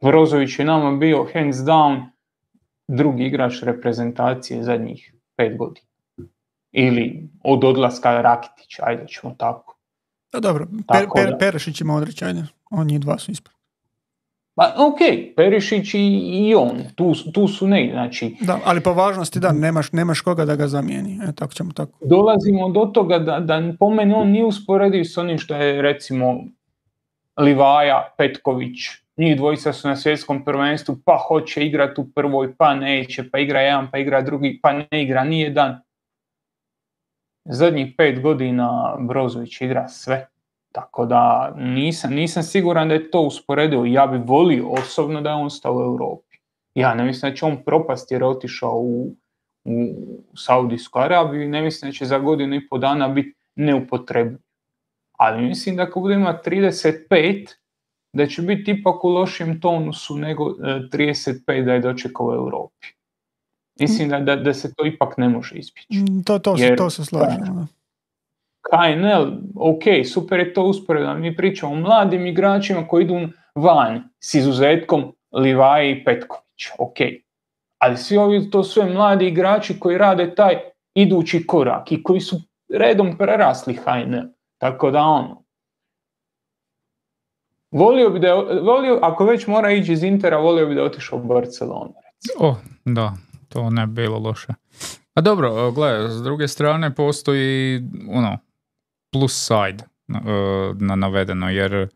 S3: Brozović je nama bio hands down drugi igrač reprezentacije zadnjih pet godina. Ili od odlaska Rakitića, ajde ćemo tako.
S1: Da, dobro, per, per, Perišić ima odreći, ajde, on njih dva su ispred.
S3: Pa ok, Perišić i, i on, tu, tu su negdje, znači...
S1: Da, ali po važnosti da, nemaš, nemaš koga da ga zamijeni, e, tako ćemo tako.
S3: Dolazimo do toga da, da po meni on nije usporediv s onim što je recimo Livaja, Petković, njih dvojica su na svjetskom prvenstvu, pa hoće igrati u prvoj, pa neće, pa igra jedan, pa igra drugi, pa ne igra nijedan. Zadnjih pet godina Brozović igra sve, tako da nisam, nisam siguran da je to usporedivo. Ja bi volio osobno da je on stao u Europi. Ja ne mislim da će on propasti jer je otišao u, u Saudijsku Arabiju i ne mislim da će za godinu i po dana biti neupotrebljiv. Ali mislim da ako bude ima trideset pet, da će biti ipak u lošem tonusu nego trideset pet da je dočekao u Europi. Mislim da, da, da se to ipak ne može izbjeći.
S1: To, to, Jer, to se slažemo.
S3: K N L, ok, super je to usporedno. Mi pričamo o mladim igračima koji idu van s izuzetkom Livaje i Petković, ok. Ali svi ovi to sve mladi igrači koji rade taj idući korak i koji su redom prerasli H N L. Tako da ono, volio bi da je, volio, ako već mora ići iz Intera, volio bi da je otišao u Barcelonu. Recimo.
S2: Oh, da, to ne bi bilo loše. A dobro, gledaj, s druge strane postoji ono, plus side na navedeno, jer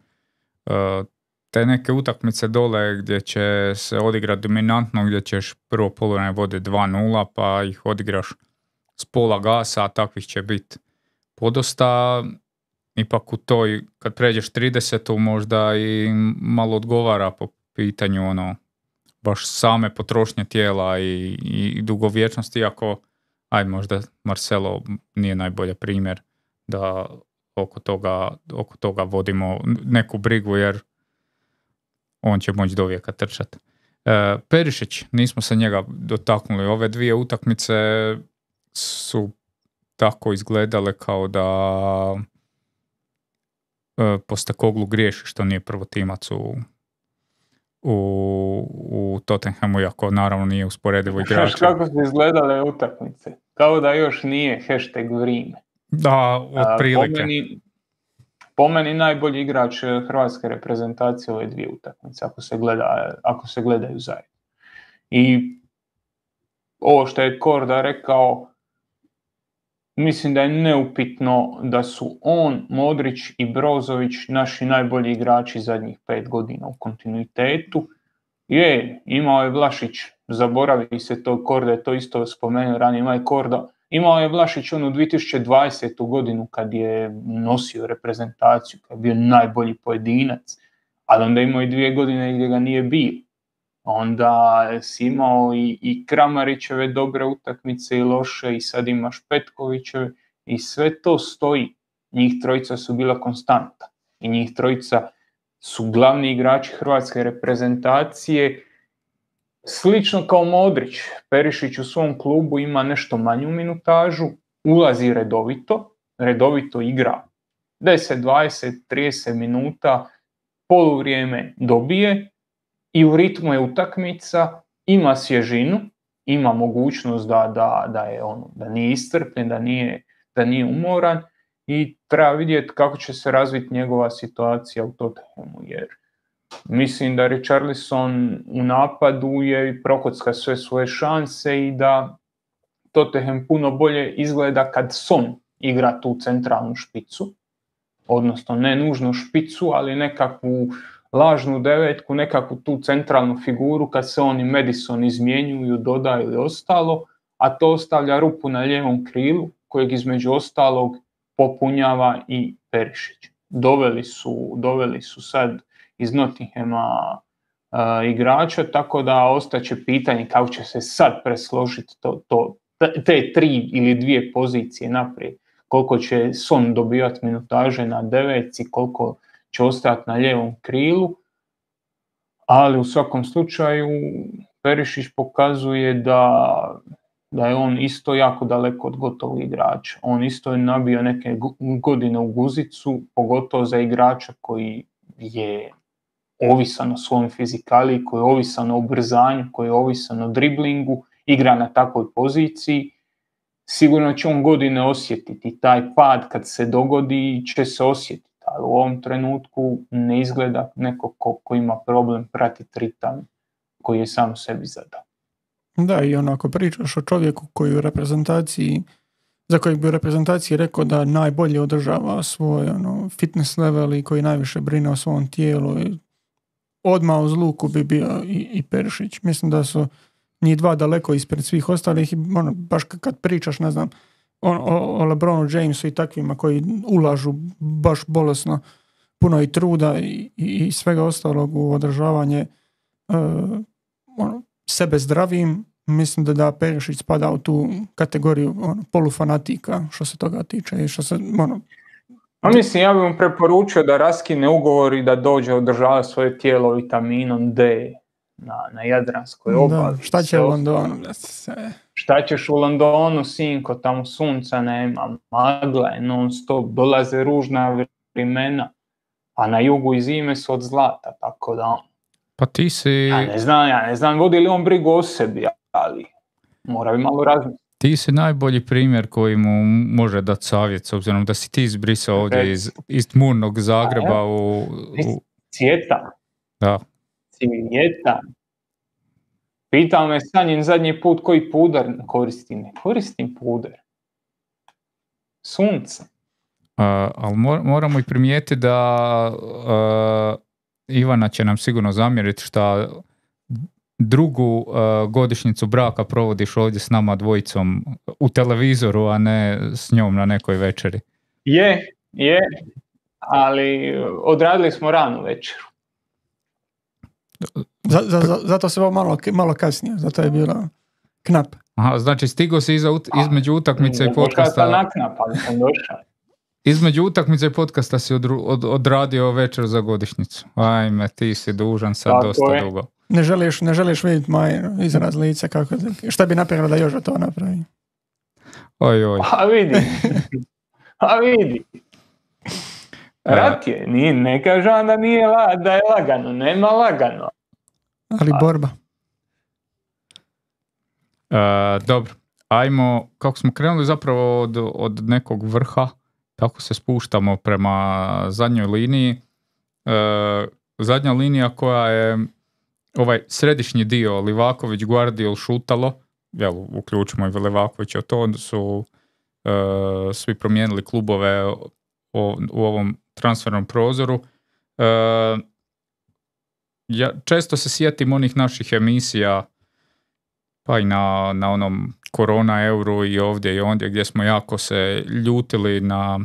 S2: te neke utakmice dole gdje će se odigrati dominantno, gdje ćeš prvo poluvreme vode dva nula, pa ih odigraš s pola gasa, a takvih će biti podosta. Ipak u toj, kad pređeš tridesetu možda i malo odgovara po pitanju ono, baš same potrošnje tijela i, i dugovječnosti, iako aj možda Marcelo nije najbolji primjer da oko toga, oko toga vodimo neku brigu, jer on će moći do vijeka trčati. E, Perišić, nismo se njega dotaknuli. Ove dvije utakmice su tako izgledale kao da e, Postecoglou griješi što nije prvotimac u u, u Tottenhamu, iako naravno nije usporedivo igrač.
S3: Kako su izgledale utakmice? Kao da još nije hashtag vrijeme.
S2: Da, otprilike.
S3: Po meni, po meni najbolji igrač hrvatske reprezentacije ove dvije utakmice, ako se, gleda, ako se gledaju zajedno. I ovo što je Korda rekao, mislim da je neupitno da su on, Modrić i Brozović naši najbolji igrači zadnjih pet godina u kontinuitetu. Je, imao je Vlašić, zaboravi se to, Korda je to isto spomenuo ranije, ima je Korda, imao je Vlašić onu dvije tisuće dvadesetu godinu kad je nosio reprezentaciju, kad je bio najbolji pojedinac, ali onda imao i dvije godine gdje ga nije bio. Onda si imao i, i Kramarićeve dobre utakmice i loše, i sad imaš Petkovićeve, i sve to stoji. Njih trojica su bila konstanta i njih trojica su glavni igrači hrvatske reprezentacije. Slično kao Modrić, Perišić u svom klubu ima nešto manju minutažu, ulazi redovito, redovito igra deset, dvadeset, trideset minuta poluvrijeme dobije i u ritmu je utakmica, ima svježinu, ima mogućnost da, da, da, je ono, da nije iscrpljen, da nije, da nije umoran i treba vidjeti kako će se razviti njegova situacija u Tottenhamu, jer mislim da Richarlison u napadu je prokocka sve svoje šanse i da Tottenham puno bolje izgleda kad Son igra tu centralnu špicu, odnosno ne nužno špicu, ali nekakvu lažnu devetku, nekakvu tu centralnu figuru kad se oni Madison izmjenjuju, dodaju ili ostalo, a to ostavlja rupu na lijevom krilu kojeg između ostalog popunjava i Perišić. Doveli su, doveli su sad iz Nottinghama uh, igrača, tako da ostaće pitanje kako će se sad presložiti to, to, te tri ili dvije pozicije naprijed. Koliko će Son dobivati minutaže na devetci, koliko će ostati na lijevom krilu, ali u svakom slučaju Perišić pokazuje da, da je on isto jako daleko od gotovog igrača. On isto je nabio neke godine u guzicu, pogotovo za igrača koji je ovisan o svom fizikaliji, koji je ovisan o ubrzanju, koji je ovisan o driblingu, igra na takvoj poziciji. Sigurno će on godine osjetiti, taj pad kad se dogodi će se osjetiti, ali u ovom trenutku ne izgleda neko ko, ko ima problem pratiti ritam koji je sam sebi zadao.
S1: Da, i onako pričaš o čovjeku koji u reprezentaciji, za kojeg bi u reprezentaciji rekao da najbolje održava svoj ono, fitness level i koji najviše brine o svom tijelu. I odmah uz luku bi bio i, i Perišić. Mislim da su njih dva daleko ispred svih ostalih i ono, baš kad pričaš, ne znam, o, o LeBronu Jamesu i takvima koji ulažu baš bolesno puno i truda i, i svega ostalog u održavanje uh, ono, sebe zdravim, mislim da da Perišić spada u tu kategoriju ono, polufanatika što se toga tiče i što se ono,
S3: A mislim, ja bih mu preporučio da raskine ugovor i da dođe održavati svoje tijelo vitaminom D na, na Jadranskoj obali.
S1: Da, šta će u Londonu?
S3: Šta ćeš u Londonu, sinko, tamo sunca nema, magla je non stop, dolaze ružna vremena, a na jugu i zime su od zlata, tako da...
S2: Pa ti si...
S3: Ja ne znam, ja ne znam, vodi li on brigu o sebi, ali mora bi malo razmisliti.
S2: Ti si najbolji primjer koji mu može dati savjet, s obzirom da si ti izbrisao ovdje iz, iz tmurnog Zagreba u... u...
S3: Cvjetan.
S2: Da.
S3: Cvjetan. Pitao me Sanjin zadnji put koji puder koristim. Ne koristim puder. Sunce.
S2: Uh, ali mor, moramo i primijetiti da uh, Ivana će nam sigurno zamjeriti što drugu uh, godišnjicu braka provodiš ovdje s nama dvojicom u televizoru, a ne s njom na nekoj večeri.
S3: Je, je, ali odradili smo ranu večeru.
S1: Za, za, za, zato se ovo malo, malo kasnije, zato je bilo knap.
S2: Aha, znači stigo si iza, između utakmice i podcasta...
S3: Na knap, ali sam došao.
S2: Između utakmice i podcasta si odru, od, odradio večer za godišnjicu. Ajme, ti si dužan sad tako dosta je. Dugo.
S1: Ne želiš, ne želiš vidjeti moj izraz lica, kako, šta bi napravila da Joža to napravi?
S2: Oj, oj.
S3: A vidi, a vidi. Rat je, nije, ne kažem da, nije, da je lagano, nema lagano.
S1: Ali borba.
S2: Uh, dobro, ajmo, kako smo krenuli zapravo od, od nekog vrha, tako se spuštamo prema zadnjoj liniji. Uh, zadnja linija koja je ovaj središnji dio, Livaković, Guardiol, Šutalo, jel, uključimo i Livakovića, to onda su uh, svi promijenili klubove o, u ovom transfernom prozoru. Uh, ja često se sjetim onih naših emisija, pa i na, na onom korona euru i ovdje i ondje gdje smo jako se ljutili na,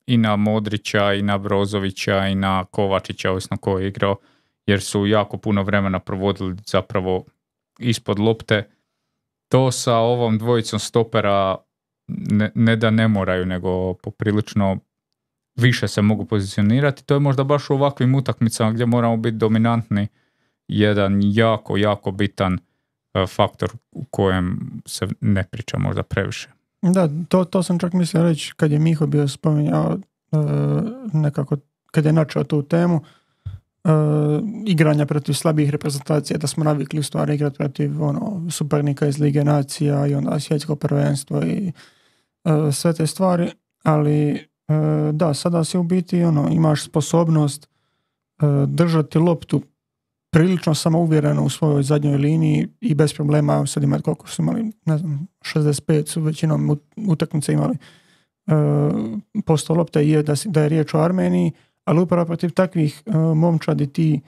S2: i na Modrića i na Brozovića i na Kovačića, ovisno ko je igrao, jer su jako puno vremena provodili zapravo ispod lopte. To sa ovom dvojicom stopera ne, ne da ne moraju, nego poprilično više se mogu pozicionirati. To je možda baš u ovakvim utakmicama gdje moramo biti dominantni jedan jako, jako bitan faktor u kojem se ne priča možda previše.
S1: Da, to, to sam čak mislio reći kad je Miho bio spominjao nekako kad je načeo tu temu Uh, igranja protiv slabih reprezentacija, da smo navikli u stvari igrati protiv ono, suparnika iz Lige nacija i onda svjetsko prvenstvo i uh, sve te stvari, ali uh, da, sada si u biti ono, imaš sposobnost uh, držati loptu prilično samouvjereno u svojoj zadnjoj liniji i bez problema sad imati koliko su imali, ne znam, šezdeset pet su većinom utakmice imali uh, posto lopte i je da, da je riječ o Armeniji, ali upravo protiv takvih uh, momčadi ti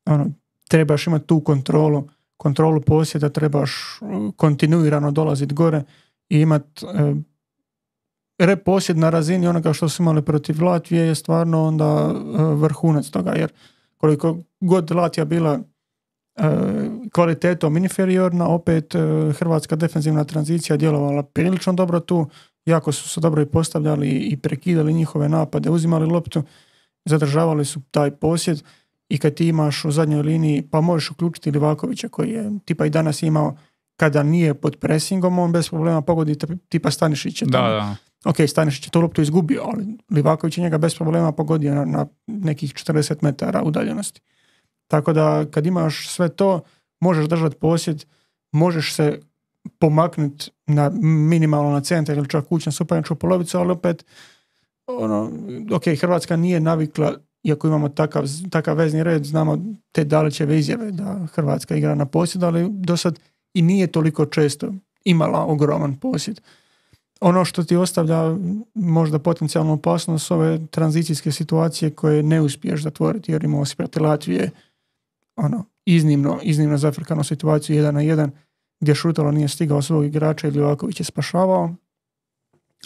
S1: ono, trebaš imati tu kontrolu, kontrolu posjeda, trebaš uh, kontinuirano dolaziti gore i imati uh, rep posjed na razini onoga što su imali protiv Latvije je stvarno onda uh, vrhunac toga, jer koliko god Latvija bila uh, kvalitetom inferiorna, opet uh, hrvatska defenzivna tranzicija djelovala prilično dobro tu, jako su se dobro i postavljali i prekidali njihove napade, uzimali loptu, zadržavali su taj posjed i kad ti imaš u zadnjoj liniji, pa možeš uključiti Livakovića koji je tipa i danas imao, kada nije pod presingom, on bez problema pogodi tipa Stanišić je tamo.
S2: Da, da.
S1: Ok, Stanišić je tu loptu izgubio, ali Livaković je njega bez problema pogodio na, na nekih četrdeset metara udaljenosti. Tako da kad imaš sve to, možeš držati posjed, možeš se pomaknuti na minimalno na centar ili čak ući na suparničku polovicu, ali opet ono, ok, Hrvatska nije navikla, iako imamo takav, takav vezni red, znamo te Dalićeve izjave da Hrvatska igra na posjed, ali do sad i nije toliko često imala ogroman posjed. Ono što ti ostavlja možda potencijalnu opasnost su ove tranzicijske situacije koje ne uspiješ zatvoriti, jer imamo si protiv Latvije ono, iznimno, iznimno zafrkanu situaciju jedan na jedan, gdje Šutalo nije stigao svog igrača ili Livaković je spašavao.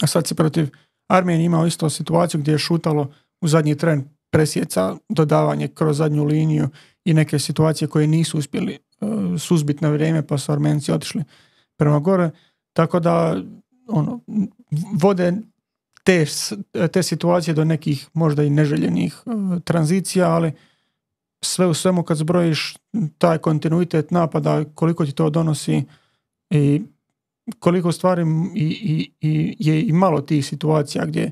S1: A sad se protiv Armenije imao isto situaciju gdje je Šutalo u zadnji tren presjeca dodavanje kroz zadnju liniju i neke situacije koje nisu uspjeli uh, suzbiti na vrijeme, pa su Armenci otišli prema gore. Tako da ono, vode te, te situacije do nekih možda i neželjenih uh, tranzicija, ali sve u svemu kad zbrojiš taj kontinuitet napada, koliko ti to donosi i koliko stvari i, i, i je i malo tih situacija gdje,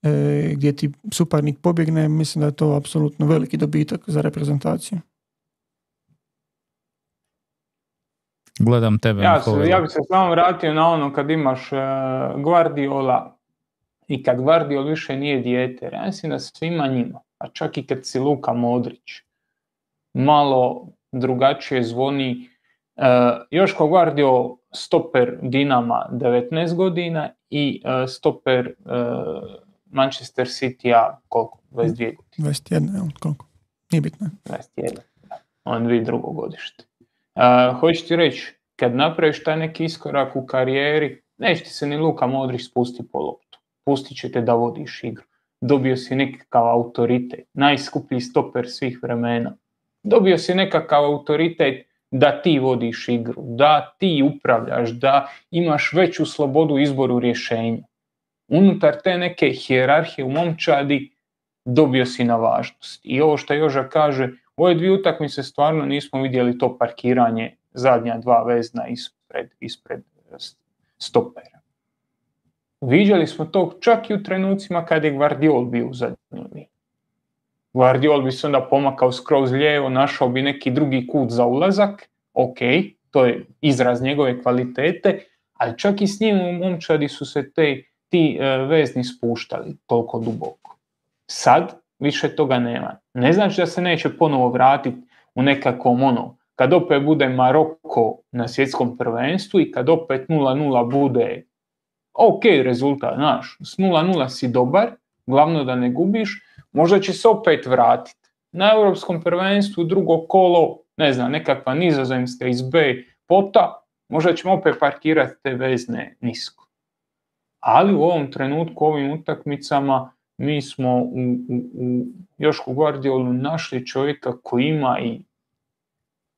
S1: e, gdje ti suparnik pobjegne, mislim da je to apsolutno veliki dobitak za reprezentaciju.
S2: Gledam tebe.
S3: Ja, se, ja bih se samo vratio na ono kad imaš uh, Guardiola i kad Guardiol više nije dijete. Ja mislim da svima njima, a čak i kad si Luka Modrić, malo drugačije zvoni. Uh, Joško Guardiol stoper Dinama devetnaest godina i uh, stoper uh, Manchester City-a koliko? dvadeset dvije godine.
S1: dvadeset jedna, koliko? Nije bitno.
S3: dvadeset jedna, da. On dvije drugo godište. Uh, hoću ti reći, kad napraviš taj neki iskorak u karijeri, neće ti se ni Luka Modrić spustiti po loptu. Pustit će te da vodiš igru. Dobio si nekakav autoritet, najskuplji stoper svih vremena. Dobio si nekakav autoritet da ti vodiš igru, da ti upravljaš, da imaš veću slobodu izboru rješenja. Unutar te neke hijerarhije u momčadi dobio si na važnost. I ovo što Joža kaže, u ove dvije utakmice stvarno nismo vidjeli to parkiranje zadnja dva vezna ispred, ispred stopera. Vidjeli smo to čak i u trenucima kad je Guardiol bio u zadnjoj liniji. Guardiol bi se onda pomakao skroz lijevo, našao bi neki drugi kut za ulazak, ok, to je izraz njegove kvalitete, ali čak i s njim u momčadi su se te, ti uh, vezni spuštali toliko duboko. Sad više toga nema. Ne znači da se neće ponovo vratiti u nekakvom ono, kad opet bude Maroko na svjetskom prvenstvu i kad opet nula nula bude ok rezultat, znaš, s nula nula si dobar, glavno da ne gubiš, možda će se opet vratiti. Na europskom prvenstvu drugo kolo, ne znam, nekakva Nizozemska iz B pota, možda ćemo opet parkirati te vezne nisko. Ali u ovom trenutku, u ovim utakmicama, mi smo u, u, u Jošku Guardiolu našli čovjeka koji ima i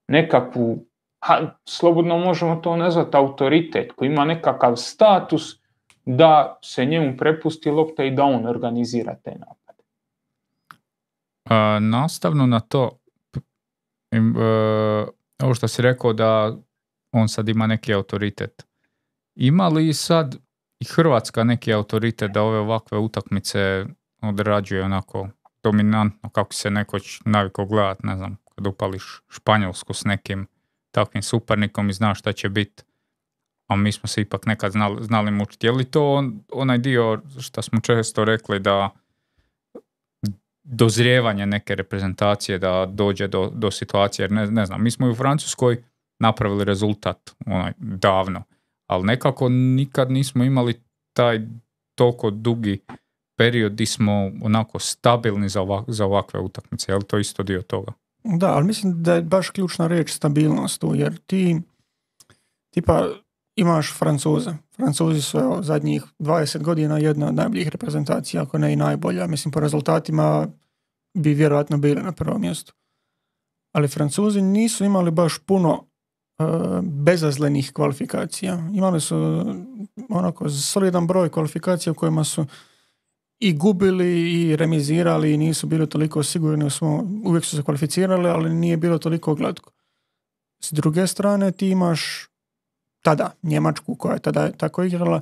S3: nekakvu, ha, slobodno možemo to nazvati autoritet, koji ima nekakav status da se njemu prepusti lopta i da on organizira te napade.
S2: Uh, nastavno na to, uh, ovo što si rekao da on sad ima neki autoritet. Ima li sad i Hrvatska neki autoritet da ove ovakve utakmice odrađuje onako dominantno, kako se nekoć navikao gledat, ne znam, kad upališ Španjolsku s nekim takvim suparnikom i znaš šta će biti, a mi smo se ipak nekad znali, znali mučiti. Je li to on, onaj dio što smo često rekli da dozrijevanje neke reprezentacije da dođe do, do situacije, jer ne, ne znam, mi smo i u Francuskoj napravili rezultat onaj, davno, ali nekako nikad nismo imali taj toliko dugi period gdje smo onako stabilni za, ovak, za ovakve utakmice. Je li to isto dio toga?
S1: Da, ali mislim da je baš ključna riječ stabilnost tu, jer ti tipa imaš Francuze. Francuzi su evo, zadnjih dvadeset godina jedna od najboljih reprezentacija, ako ne i najbolja. Mislim, po rezultatima bi vjerojatno bili na prvom mjestu. Ali Francuzi nisu imali baš puno uh, bezazlenih kvalifikacija. Imali su onako solidan broj kvalifikacija u kojima su i gubili i remizirali i nisu bili toliko sigurni, smo, uvijek su se kvalificirali, ali nije bilo toliko glatko. S druge strane ti imaš tada Njemačku koja je tada tako igrala,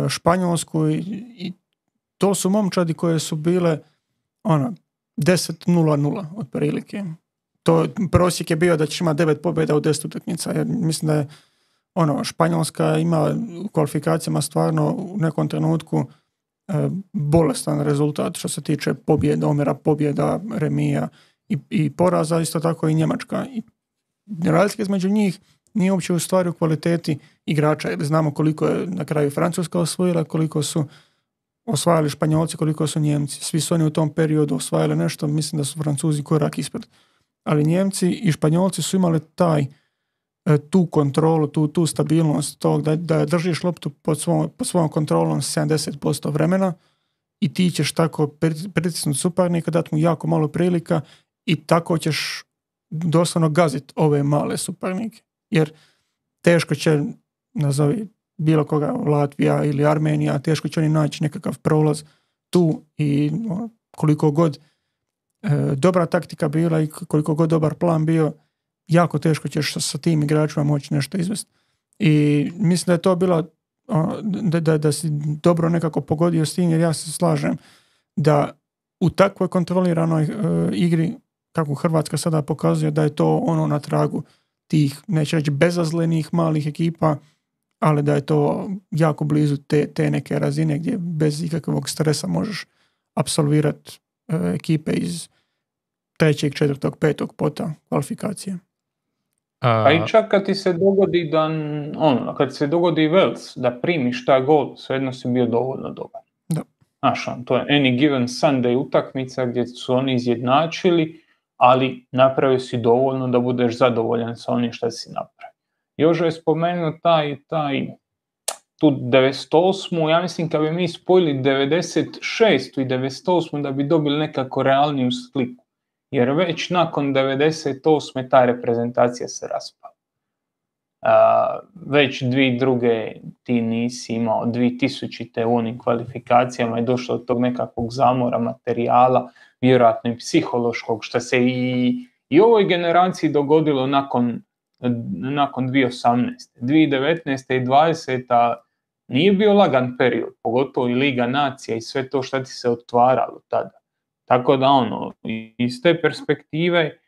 S1: Španjolsku i, i to su momčadi koje su bile ono, deset nula nula otprilike. To prosjek je bio da ćeš imati devet pobjeda u deset utakmica, jer mislim da je ono, Španjolska ima u kvalifikacijama stvarno u nekom trenutku e, bolestan rezultat što se tiče pobjeda, omjera pobjeda, remija i, i poraza, isto tako i Njemačka. I razlika između njih nije uopće u stvari u kvaliteti igrača, jer znamo koliko je na kraju Francuska osvojila, koliko su osvajali Španjolci, koliko su Njemci. Svi su oni u tom periodu osvajali nešto, mislim da su Francuzi korak ispred. Ali Njemci i Španjolci su imali taj, tu kontrolu, tu, tu stabilnost tog da, da držiš loptu pod svojom, pod svojom kontrolom sedamdeset posto vremena i ti ćeš tako pritisnuti suparnika, dati mu jako malo prilika i tako ćeš doslovno gaziti ove male suparnike. Jer teško će, nazovi bilo koga, Latvija ili Armenija, teško će oni naći nekakav prolaz tu i no, koliko god e, dobra taktika bila i koliko god dobar plan bio, jako teško ćeš sa, sa tim igračima moći nešto izvesti. I mislim da je to bilo da, da, da si dobro nekako pogodio s tim, jer ja se slažem da u takvoj kontroliranoj e, igri kako Hrvatska sada pokazuje da je to ono na tragu tih, neće reći bezazlenih malih ekipa, ali da je to jako blizu te, te neke razine gdje bez ikakvog stresa možeš apsolvirati e, ekipe iz trećeg, četvrtog, petog pota kvalifikacije.
S3: A i čak kad ti se dogodi da, ono, kad se dogodi Wales, da primiš taj gol, svejedno si bio dovoljno dobar.
S1: Da.
S3: Znaš, to je any given Sunday utakmica gdje su oni izjednačili, ali napravio si dovoljno da budeš zadovoljan sa onim što si napravio. Jožo je spomenuo taj, taj tu devedeset osmu, ja mislim kad bi mi spojili devedeset šestu i devedeset osmu da bi dobili nekako realniju sliku. Jer već nakon devedeset osme ta reprezentacija se raspala. Uh, već dvije druge ti nisi imao, dvije tisućite u onim kvalifikacijama je došlo do tog nekakvog zamora materijala, vjerojatno i psihološkog, što se i, i ovoj generaciji dogodilo nakon, nakon dvije tisuće osamnaeste. dvije tisuće devetnaeste i dvadeseta nije bio lagan period, pogotovo i Liga nacija i sve to što ti se otvaralo tada. Tako da ono, iz te perspektive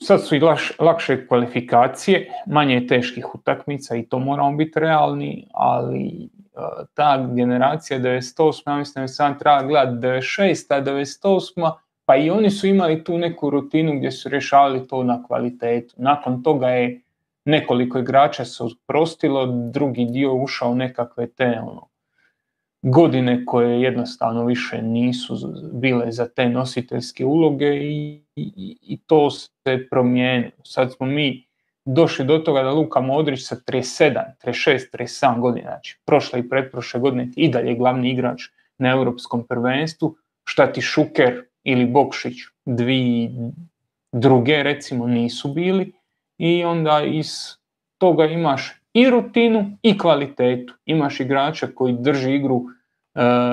S3: sad su i laš, lakše kvalifikacije, manje teških utakmica i to moramo biti realni, ali uh, ta generacija devedeset osme, ja mislim da sam treba gledati devedeset šesta, devedeset osma, pa i oni su imali tu neku rutinu gdje su rješavali to na kvalitetu. Nakon toga je nekoliko igrača se oprostilo, drugi dio ušao nekakve te ono, godine koje jednostavno više nisu bile za te nositeljske uloge i, i, i to se promijenilo. Sad smo mi došli do toga da Luka Modrić sa trideset sedam, trideset šest, trideset sedam godina, znači prošle i pretprošle godine i dalje glavni igrač na europskom prvenstvu, šta ti Šuker ili Bokšić dvije druge recimo nisu bili i onda iz toga imaš i rutinu i kvalitetu. Imaš igrača koji drži igru uh,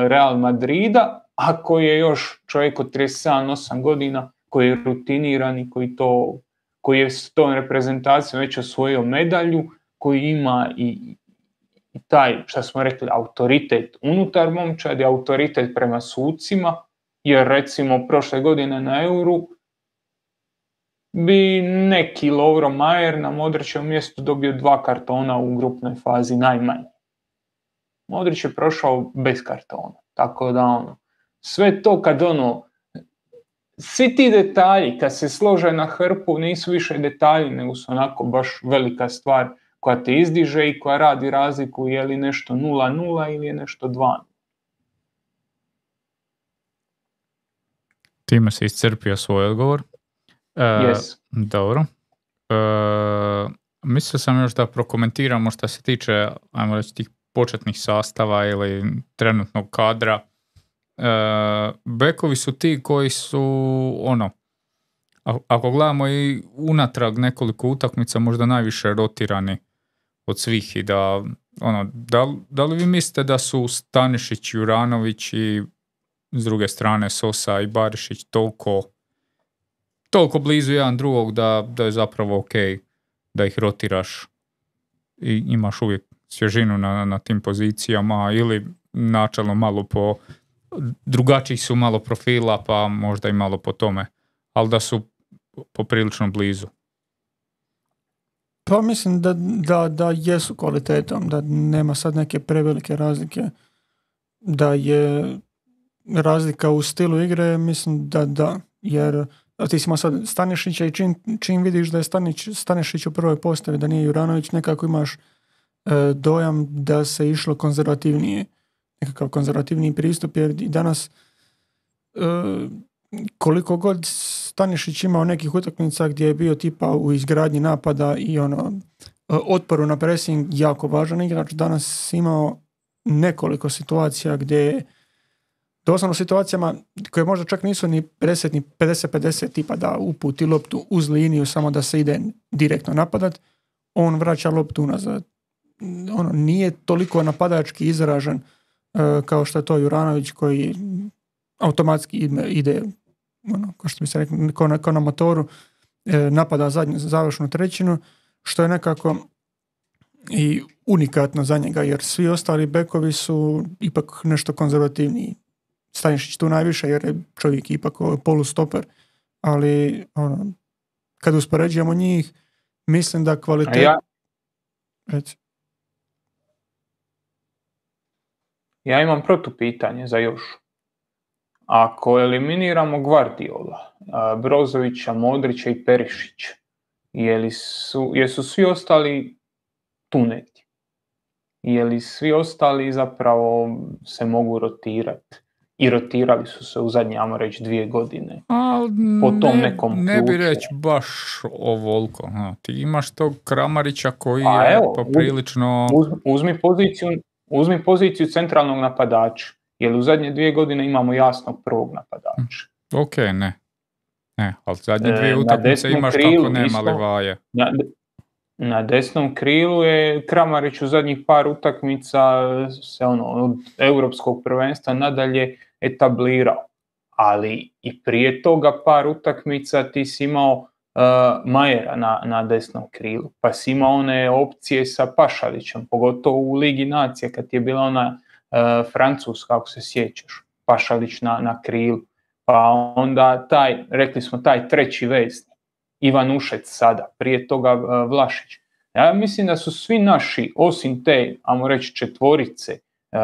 S3: Real Madrida, a koji je još čovjek od trideset sedam osam godina, koji je rutiniran i koji, to, koji je s tom reprezentacijom već osvojio medalju, koji ima i, i taj, što smo rekli, autoritet unutar momčadi, autoritet prema sucima, jer recimo prošle godine na Euru bi neki Lovro Majer na Modrićevom mjestu dobio dva kartona u grupnoj fazi najmanje. Modrić je prošao bez kartona, tako da ono, sve to kad ono, svi ti detalji kad se slože na hrpu nisu više detalji, nego su onako baš velika stvar koja te izdiže i koja radi razliku je li nešto nula nula ili je nešto dva.
S2: Time se iscrpio svoj odgovor. E,
S3: yes.
S2: Dobro. E, mislio sam još da prokomentiramo što se tiče, ajmo reći, tih početnih sastava ili trenutnog kadra. E, bekovi su ti koji su ono, ako gledamo i unatrag nekoliko utakmica, možda najviše rotirani od svih i da, ono, da, da li vi mislite da su Stanišić, Juranović i s druge strane Sosa i Barišić toliko, toliko blizu jedan drugog da, da je zapravo ok da ih rotiraš i imaš uvijek svježinu na, na tim pozicijama ili načelno malo po drugačijih su malo profila pa možda i malo po tome, ali da su poprilično blizu.
S1: Pa mislim da, da, da jesu kvalitetom, da nema sad neke prevelike razlike, da je razlika u stilu igre, mislim da da, jer ti si imao sad Stanišića i čim, čim vidiš da je Stanić, Stanišić u prvoj postavi, da nije Juranović, nekako imaš e, dojam da se išlo konzervativnije, nekakav konzervativniji pristup, jer i danas e, koliko god Stanišić imao nekih utakmica gdje je bio tipa u izgradnji napada i ono otporu na pressing jako važan igrač, danas imao nekoliko situacija gdje je doslovno situacijama koje možda čak nisu ni pedeset ni pedeset pedeset tipa da uputi loptu uz liniju samo da se ide direktno napadat, on vraća loptu unazad. Ono, nije toliko napadački izražen uh, kao što je to Juranović koji automatski ide, ide ono, kao što bi se rekli, kao na, kao na motoru, e, napada zadnju završnu trećinu, što je nekako i unikatno za njega, jer svi ostali bekovi su ipak nešto konzervativniji. Stanišić tu najviše, jer je čovjek ipak polustoper, ali ono, kad uspoređujemo njih, mislim da kvalitet...
S3: Ja...
S1: Reci.
S3: Ja imam protupitanje za još. Ako eliminiramo Gvardiola, Brozovića, Modrića i Perišića, je su, jesu svi ostali tuneti? Je li svi ostali zapravo se mogu rotirati? I rotirali su se u zadnje, ajmo reći, dvije godine.
S2: A,
S3: po tom
S2: ne,
S3: nekom
S2: ne bi
S3: ključu.
S2: reći baš ovoliko. Ha, ti imaš tog Kramarića koji
S3: A
S2: je
S3: evo,
S2: poprilično...
S3: Uz, uzmi, poziciju, uzmi poziciju centralnog napadača. Jer u zadnje dvije godine imamo jasnog prvog napadača.
S2: Ok, ne. Ne, ali zadnje dvije
S3: e,
S2: utakmice imaš
S3: krilu,
S2: kako nema
S3: isto,
S2: Levaje.
S3: Na, na desnom krilu je Kramarić u zadnjih par utakmica se ono, od europskog prvenstva nadalje etablirao. Ali i prije toga par utakmica ti si imao uh, Majera na, na desnom krilu. Pa si imao one opcije sa Pašalićem, pogotovo u Ligi nacija kad je bila ona Uh, Francuska, ako se sjećaš, Pašalić na, na krilu, pa onda taj, rekli smo taj treći vezni, Ivan Ušec sada, prije toga uh, Vlašić. Ja mislim da su svi naši, osim te, ajmo reći četvorice, uh,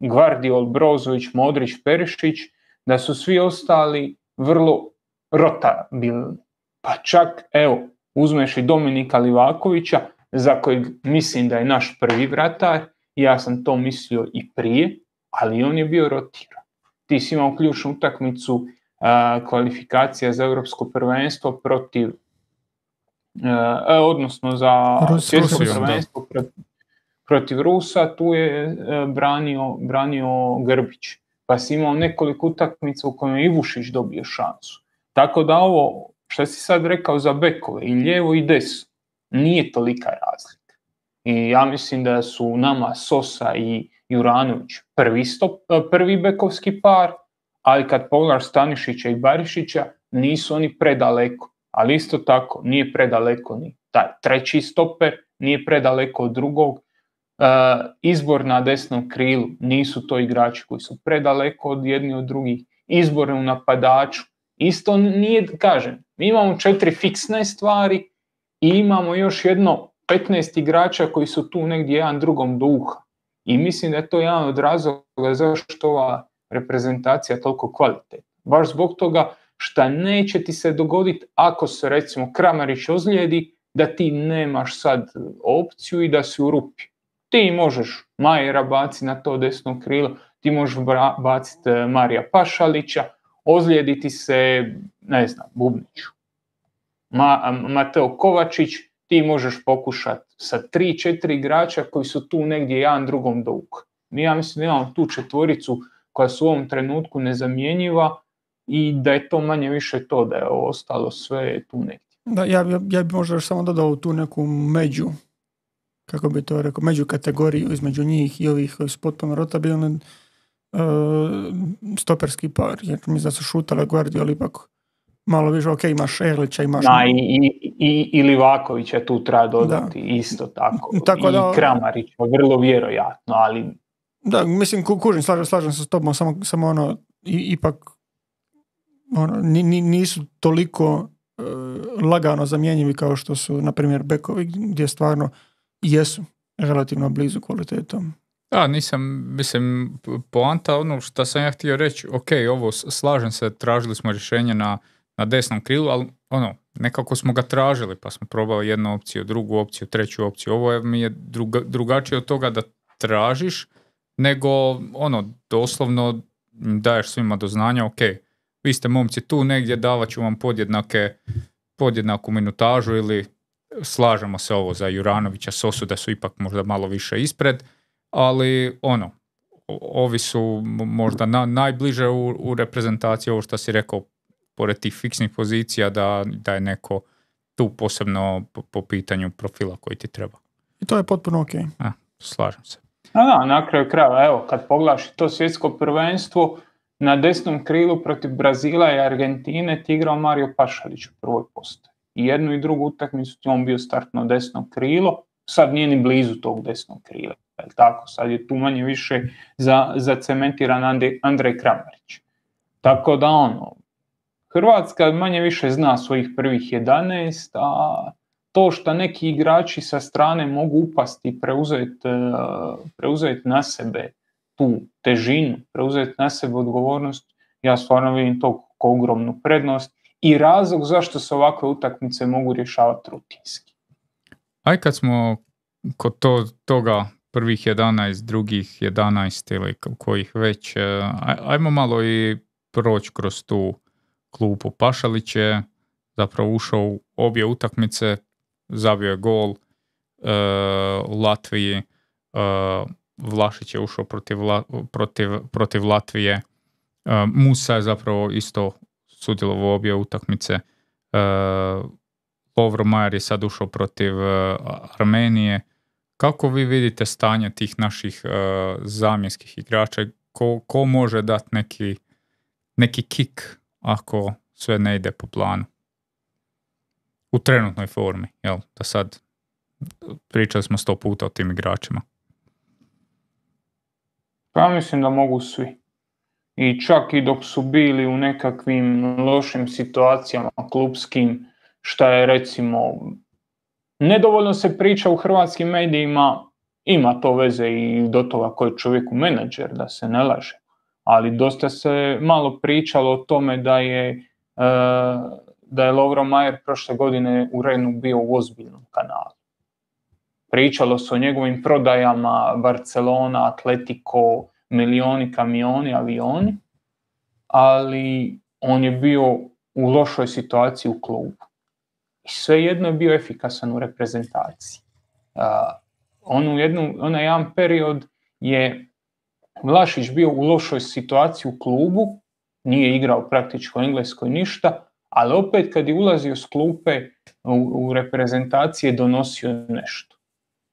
S3: Gvardiol, Brozović, Modrić, Perišić, da su svi ostali vrlo rotabilni. Pa čak, evo, uzmeš i Dominika Livakovića, za kojeg mislim da je naš prvi vratar. Ja sam to mislio i prije, ali on je bio rotiran. Ti si imao ključnu utakmicu uh, kvalifikacija za europsko prvenstvo protiv, uh, odnosno za svjetsko prvenstvo protiv, protiv Rusa, tu je uh, branio, branio Grbić. Pa si imao nekoliko utakmica u kojima je Ivušić dobio šansu. Tako da ovo, što si sad rekao za bekove, i lijevo i desno, nije tolika razlika. I ja mislim da su nama Sosa i Juranović prvi, stop, prvi bekovski par, ali kad pogledaš Stanišića i Barišića, nisu oni predaleko. Ali isto tako nije predaleko ni taj treći stoper, nije predaleko od drugog. izbor na desnom krilu, nisu to igrači koji su predaleko od jedni od drugih, izbor u napadaču, isto nije, kažem, mi imamo četiri fiksne stvari i imamo još jedno petnaest igrača koji su tu negdje jedan drugom do uha. I mislim da je to jedan od razloga zašto ova reprezentacija toliko kvalitetna. Baš zbog toga što neće ti se dogoditi ako se recimo Kramarić ozlijedi, da ti nemaš sad opciju i da si u rupi. Ti možeš Majera baciti na to desno krilo, ti možeš baciti Marija Pašalića, ozlijediti se, ne znam, Bubniću. Ma, Mateo Kovačić, ti možeš pokušati sa tri, četiri igrača koji su tu negdje jedan drugom do uha. Ja mislim da imamo tu četvoricu koja su u ovom trenutku nezamjenjiva i da je to manje više to, da je ostalo sve tu negdje.
S1: Da, ja, ja, ja bi možda još samo dodao tu neku među, kako bi to rekao, među kategoriju između njih i ovih koji su potpuno rotabilni, uh, stoperski par, jer mi da su šutale Guardiola ipak malo više, ok, imaš Erlića, imaš...
S3: Da, i, i, i, i Livakovića tu treba dodati, da. Isto tako, tako da, i Kramarić, vrlo vjerojatno, ali...
S1: Da, mislim, kužim, slažem, slažem se s tobom, samo, samo ono, i, ipak ono, nisu toliko uh, lagano zamjenjivi kao što su, na primjer, bekovi, gdje stvarno jesu relativno blizu kvalitetom.
S2: Da, nisam, mislim, poanta ono što sam ja htio reći, ok, ovo slažem se, tražili smo rješenje na, na desnom krilu, ali ono, nekako smo ga tražili, pa smo probali jednu opciju, drugu opciju, treću opciju. Ovo je, mi je druga, drugačije od toga da tražiš, nego ono, doslovno daješ svima do znanja, ok, vi ste momci tu negdje, davat ću vam podjednake, podjednaku minutažu ili slažemo se ovo za Juranovića, Sosu da su ipak možda malo više ispred, ali ono, ovi su možda na, najbliže u, u reprezentaciji, ovo što si rekao, pored tih fiksnih pozicija, da, da je neko tu posebno po, po pitanju profila koji ti treba.
S1: I to je potpuno ok.
S2: A, slažem se.
S3: A da, na kraju krajeva, evo, kad pogledaš to svjetsko prvenstvo, na desnom krilu protiv Brazila i Argentine ti igrao Mario Pašalić u prvoj postaji. I jednu i drugu utakmicu ti on bio startno desno krilo, sad nije ni blizu tog desnog krila. Tako, sad je tu manje više za, zacementiran Andrej, Andrej Kramarić. Tako da ono, Hrvatska manje više zna svojih prvih jedanaest, a to što neki igrači sa strane mogu upasti i preuzeti, preuzeti na sebe tu težinu, preuzeti na sebe odgovornost, ja stvarno vidim to kao ogromnu prednost i razlog zašto se ovakve utakmice mogu rješavati rutinski.
S2: Aj kad smo kod to, toga prvih jedanaest, drugih jedanaest ili kojih već, aj, ajmo malo i proći kroz tu klupu. Pašalić je zapravo ušao u obje utakmice, zabio je gol uh, u Latviji, uh, Vlašić je ušao protiv, protiv, protiv Latvije, uh, Musa je zapravo isto sudjelovao u obje utakmice, uh, Lovro Majer je sad ušao protiv uh, Armenije. Kako vi vidite stanje tih naših uh, zamjenskih igrača? Ko, ko može dati neki, neki kik ako sve ne ide po planu? U trenutnoj formi, jel? Da sad pričali smo sto puta o tim igračima.
S3: Pa mislim da mogu svi. I čak i dok su bili u nekakvim lošim situacijama klupskim, šta je recimo, nedovoljno se priča u hrvatskim medijima, ima to veze i do toga koji je čovjeku menadžer, da se ne laže. Ali dosta se malo pričalo o tome da je, da je Lovro Majer prošle godine u Renu bio u ozbiljnom kanalu. Pričalo se o njegovim prodajama, Barcelona, Atletico, milioni, kamioni, avioni, ali on je bio u lošoj situaciji u klubu. I svejedno je bio efikasan u reprezentaciji. Uh, on u jednu, onaj jedan period je Vlašić bio u lošoj situaciji u klubu, nije igrao praktički u Engleskoj ništa, ali opet kad je ulazio s klupe u, u reprezentacije donosio nešto.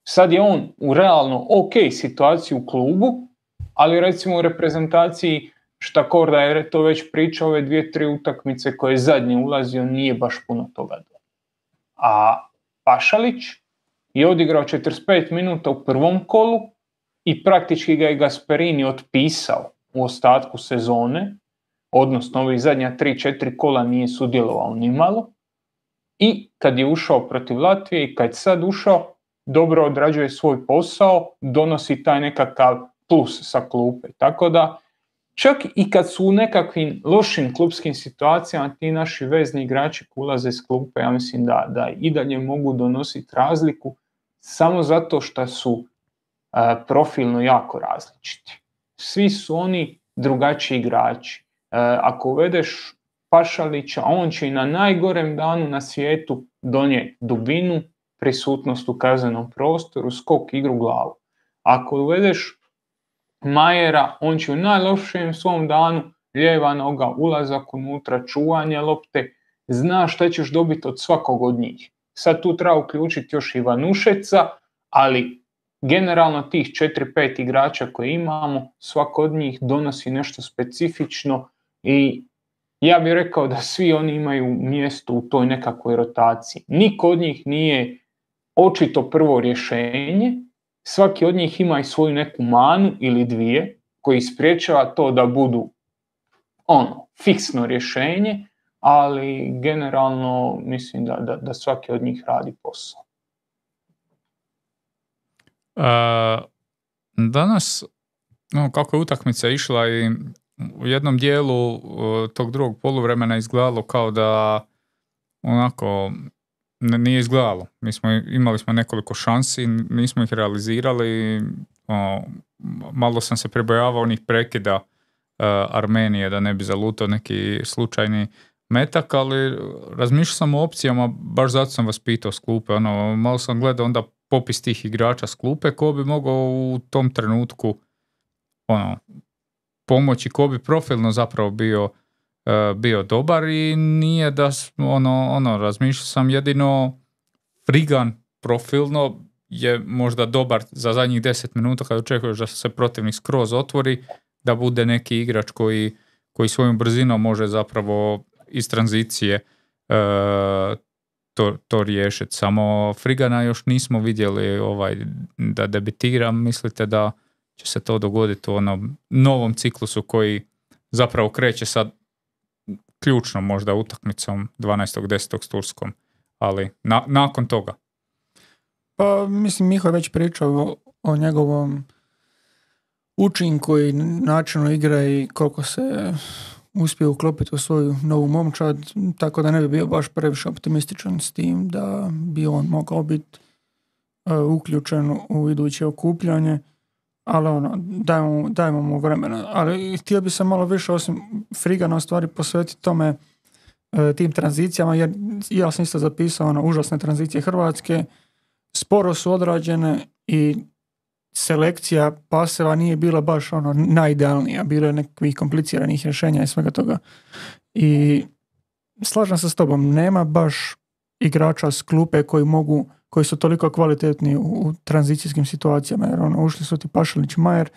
S3: Sad je on u realno ok situaciji u klubu, ali recimo u reprezentaciji, šta Korda je to već pričao, ove dvije, tri utakmice koje je zadnje ulazio, nije baš puno toga. A Pašalić je odigrao četrdeset pet minuta u prvom kolu i praktički ga je Gasperini otpisao u ostatku sezone, odnosno ovih zadnja tri četiri kola nije sudjelovao nimalo. I kad je ušao protiv Latvije i kad je sad ušao, dobro odrađuje svoj posao, donosi taj nekakav plus sa klupe. Tako da čak i kad su u nekakvim lošim klupskim situacijama ti naši vezni igrači koji ulaze s klupe, ja mislim da, da i dalje mogu donositi razliku samo zato što su uh, profilno jako različiti. Svi su oni drugačiji igrači. Uh, ako uvedeš Pašalića, on će i na najgorem danu na svijetu donijeti dubinu, prisutnost u kaznenom prostoru, skok, igru, glavu. Ako uvedeš Majera, on će u najlošijem svom danu, lijeva noga, ulazak unutra, čuvanje lopte, zna šta ćeš dobiti od svakog od njih. Sad tu treba uključiti još i Vanušeca, ali generalno tih četiri pet igrača koje imamo, svako od njih donosi nešto specifično i ja bih rekao da svi oni imaju mjesto u toj nekakvoj rotaciji. Niko od njih nije očito prvo rješenje, svaki od njih ima i svoju neku manu ili dvije koji spriječava to da budu ono, fiksno rješenje, ali generalno mislim da, da, da svaki od njih radi posao.
S2: Uh, danas, no, kako je utakmica išla i u jednom dijelu uh, tog drugog poluvremena izgledalo kao da onako nije izgledalo. Mi smo, imali smo nekoliko šansi, nismo ih realizirali. O, malo sam se prebojavao onih prekida uh, Armenije da ne bi zalutao neki slučajni metak, ali razmišljao sam o opcijama, baš zato sam vas pitao s klupe. Ono, malo sam gledao onda popis tih igrača s klupe, ko bi mogao u tom trenutku ono, pomoći, ko bi profilno zapravo bio Uh, bio dobar i nije da ono, ono razmišljao sam jedino Frigan profilno je možda dobar za zadnjih deset minuta kad očekuješ da se protivnik skroz otvori, da bude neki igrač koji, koji svojom brzinom može zapravo iz tranzicije uh, to, to riješiti. Samo Frigana još nismo vidjeli ovaj, da debitira. Mislite da će se to dogoditi u onom novom ciklusu koji zapravo kreće sad ključno možda utakmicom dvanaestog desetog s Turskom, ali na, nakon toga.
S1: Pa mislim, Miho je već pričao o, o njegovom učinku i načinu igre i koliko se uspije uklopiti u svoju novu momčad, tako da ne bi bio baš previše optimističan s tim da bi on mogao biti uh, uključen u iduće okupljanje, ali ono, dajmo, dajmo mu vremena. Ali htio bi se malo više osim Frigana stvari posvetiti tome e, tim tranzicijama, jer ja sam isto zapisao ono, užasne tranzicije Hrvatske, sporo su odrađene i selekcija paseva nije bila baš ono najidealnija, bilo je nekakvih kompliciranih rješenja i svega toga. I slažem se s tobom, nema baš igrača s klupe koji mogu koji su toliko kvalitetni u, u tranzicijskim situacijama, jer ono, ušli su ti Pašalić, Majer.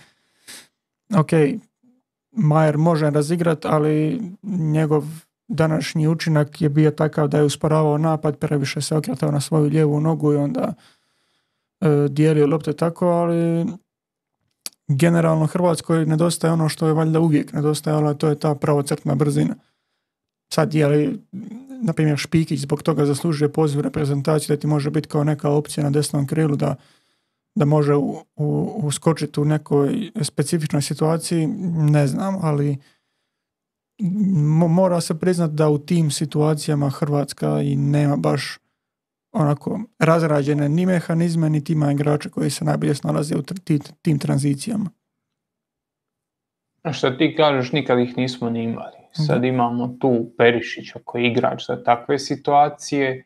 S1: Ok, Majer može razigrat, ali njegov današnji učinak je bio takav da je usporavao napad, previše se okretao na svoju lijevu nogu i onda e, dijelio lopte tako, ali generalno Hrvatskoj nedostaje ono što je valjda uvijek nedostajalo, a to je ta pravocrtna brzina. Sad je li, na primjer, Špikić zbog toga zaslužuje poziv reprezentaciju da ti može biti kao neka opcija na desnom krilu da, da može u, u, uskočiti u nekoj specifičnoj situaciji, ne znam, ali mora se priznati da u tim situacijama Hrvatska i nema baš onako razrađene ni mehanizme, ni tima igrača koji se najbolje snalaze u tim, tim tranzicijama.
S3: A što ti kažeš, nikad ih nismo ni imali. Sad imamo tu Perišića koji je igrač za takve situacije.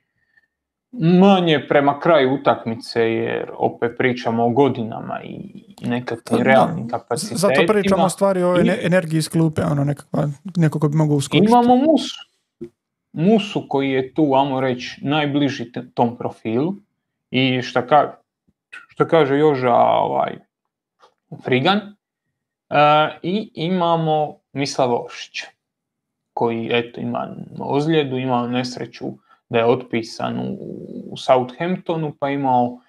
S3: Manje prema kraju utakmice, jer opet pričamo o godinama i nekakvim realnim kapacitetima.
S1: Zato pričamo stvari o I, energiji iz klupe, ono nekakva, neko ko bi mogao uskočiti.
S3: Imamo Musu. Musu koji je tu, ajmo reći, najbliži tom profilu. I što ka, što kaže Joža ovaj, Frigan. Uh, I imamo Mislava Oršića, koji eto, ima ozljedu, imao nesreću da je otpisan u, u Southamptonu, pa imao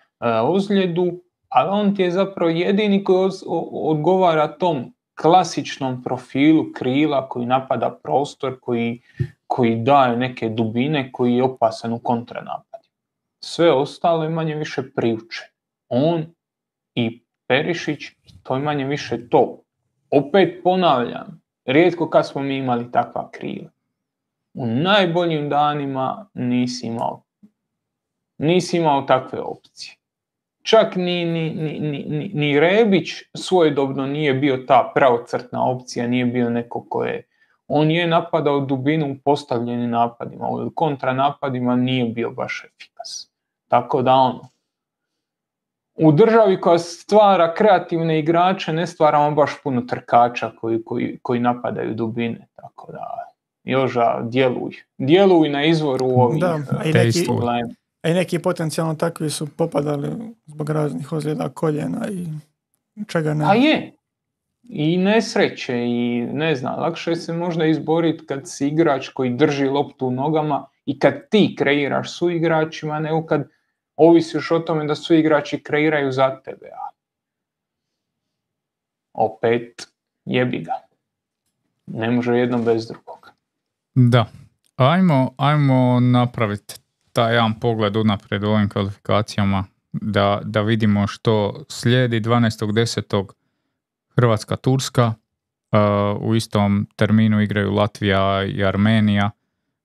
S3: ozljedu, ali on ti je zapravo jedini koji odgovara tom klasičnom profilu krila koji napada prostor, koji, koji daje neke dubine, koji je opasan u kontranapadu. Sve ostalo je manje više priuče. On i Perišić, to je manje više to. Opet ponavljam, rijetko kad smo mi imali takva krila. U najboljim danima nisi imao, nisi imao takve opcije. Čak ni, ni, ni, ni, ni Rebić svojedobno nije bio ta pravocrtna opcija, nije bio neko ko je... On je napadao dubinu u postavljenim napadima, u kontranapadima nije bio baš efikasan. Tako da ono, u državi koja stvara kreativne igrače ne stvaramo baš puno trkača koji, koji, koji napadaju dubine. Tako da, Joža, djeluj. Djeluj na izvoru ovih
S1: da, a i neki,
S3: problema.
S1: A i neki potencijalno takvi su popadali zbog raznih ozljeda koljena i čega ne.
S3: A je. I nesreće i ne znam, lakše se možda izboriti kad si igrač koji drži loptu u nogama i kad ti kreiraš su igračima, nego kad ovisiš o tome da su igrači kreiraju za tebe. A opet jebi ga. Ne može jedno bez drugog.
S2: Da. Ajmo, ajmo napraviti taj jedan pogled unaprijed u ovim kvalifikacijama da, da vidimo što slijedi. Dvanaestog desetog Hrvatska-Turska, uh, u istom terminu igraju Latvija i Armenija,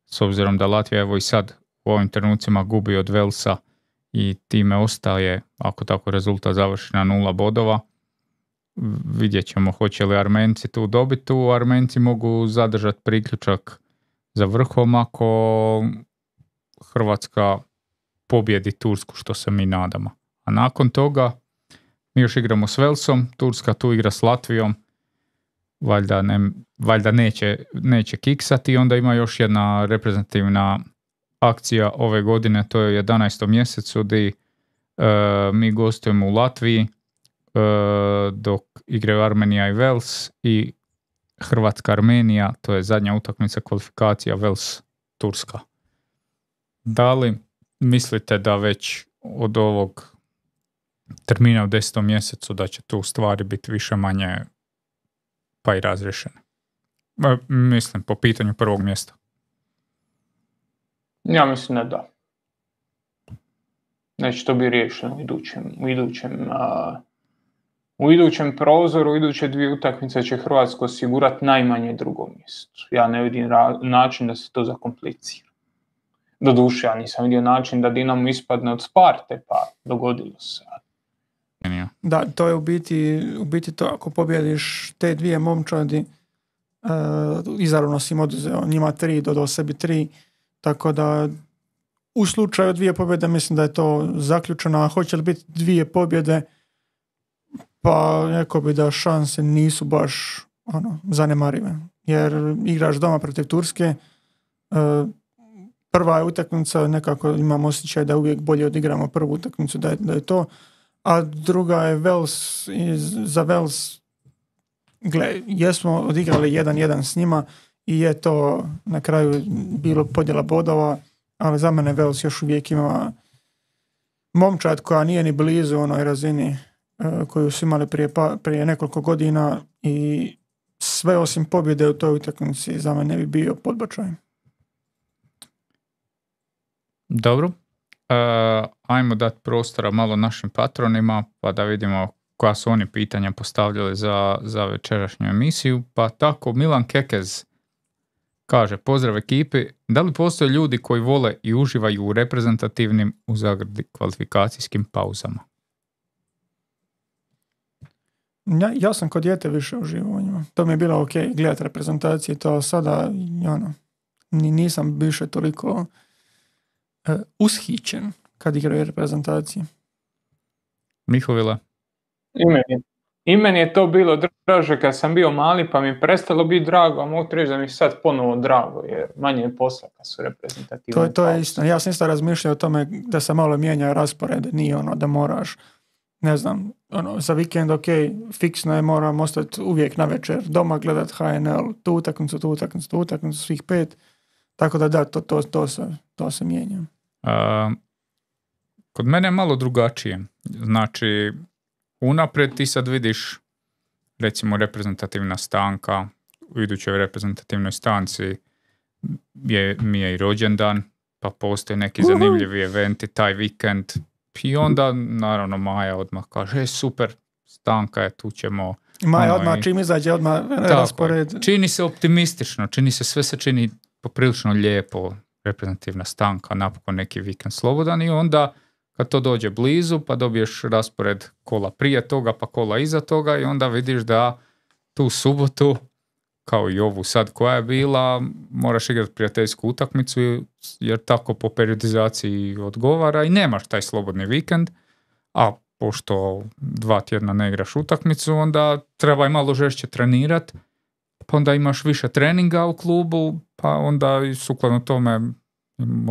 S2: s obzirom da Latvija evo i sad u ovim trenucima gubi od Velsa i time ostaje, ako tako rezultat završi, na nula bodova. Vidjet ćemo hoće li Armenci tu dobiti. Tu Armenci mogu zadržati priključak za vrhom ako Hrvatska pobjedi Tursku, što se mi nadamo. A nakon toga mi još igramo s Velsom, Turska tu igra s Latvijom, valjda, ne, valjda neće, neće kiksati i onda ima još jedna reprezentativna akcija ove godine, to je u jedanaestom mjesecu gdje uh, mi gostujemo u Latviji uh, dok igraju Armenija i Vels i Hrvatska-Armenija, to je zadnja utakmica kvalifikacija Vels-Turska. Da li mislite da već od ovog termina u desetom mjesecu da će tu stvari biti više manje pa i razriješene? Mislim, po pitanju prvog mjesta.
S3: Ja mislim da da. Neće to biti riješeno u idućem, u idućem, a, u idućem prozoru, u iduće dvije utakmice će Hrvatsko osigurati najmanje drugo mjesto. Ja ne vidim ra- način da se to zakomplicira. Doduše, ja nisam vidio način da Dinamo ispadne od Sparte, pa dogodilo se.
S1: Da, to je u biti, u biti to, ako pobjediš te dvije momčadi, uh, izravno si im oduzeo njima tri, dodao sebi tri, tako da u slučaju dvije pobjede mislim da je to zaključeno, a hoće li biti dvije pobjede, pa rekao bi da šanse nisu baš ono, zanemarive, jer igraš doma protiv Turske, uh, prva je utakmica, nekako imam osjećaj da uvijek bolje odigramo prvu utakmicu, da je, da je to, a druga je Vels, i za Vels, gle, jesmo odigrali jedan jedan s njima i je to na kraju bilo podjela bodova, ali za mene Vels još uvijek ima momčad koja nije ni blizu onoj razini uh, koju su imali prije, pa, prije nekoliko godina i sve osim pobjede u toj utakmici za mene ne bi bio podbačaj.
S2: Dobro. Uh, ajmo dati prostora malo našim patronima pa da vidimo koja su oni pitanja postavljali za, za večerašnju emisiju. Pa tako Milan Kekez kaže: pozdrav ekipi, da li postoje ljudi koji vole i uživaju u reprezentativnim u zagradi kvalifikacijskim pauzama?
S1: Ja, ja sam kod dijete više uživao u njima. To mi je bilo ok gledati reprezentacije, to sada ono, nisam više toliko Uh, ushićen kad igraju reprezentacije.
S2: Mihovila?
S3: I meni, I meni je to bilo draže kad sam bio mali, pa mi je prestalo biti drago, a mogu reći da mi je sad ponovo drago, jer manje je posla kad su reprezentativne.
S1: To, to je isto. Ja sam isto razmišljao o tome da se malo mijenja raspored, nije ono da moraš, ne znam, ono, za vikend, ok, fiksno je, moram ostati uvijek na večer doma gledat H N L, tu utakmicu, tu utakmicu, tu utakmicu, svih pet, tako da da, to, to, to, se, to se mijenja.
S2: Uh, kod mene je malo drugačije. Znači, unaprijed ti sad vidiš, recimo, reprezentativna stanka, u idućoj reprezentativnoj stanci je, mi je i rođendan, pa postoje neki uh-huh. zanimljivi eventi taj vikend. I onda, naravno, Maja odmah kaže, e, super, stanka je, tu ćemo...
S1: Maja ono, odmah, i... čim izađe, odmah raspored.
S2: Čini se optimistično, čini se, sve se čini poprilično lijepo, reprezentativna stanka, napokon neki vikend slobodan i onda kad to dođe blizu, pa dobiješ raspored kola prije toga, pa kola iza toga i onda vidiš da tu subotu, kao i ovu sad koja je bila, moraš igrati prijateljsku utakmicu jer tako po periodizaciji odgovara i nemaš taj slobodni vikend, a pošto dva tjedna ne igraš utakmicu, onda treba i malo žešće trenirati, pa onda imaš više treninga u klubu, pa onda i sukladno tome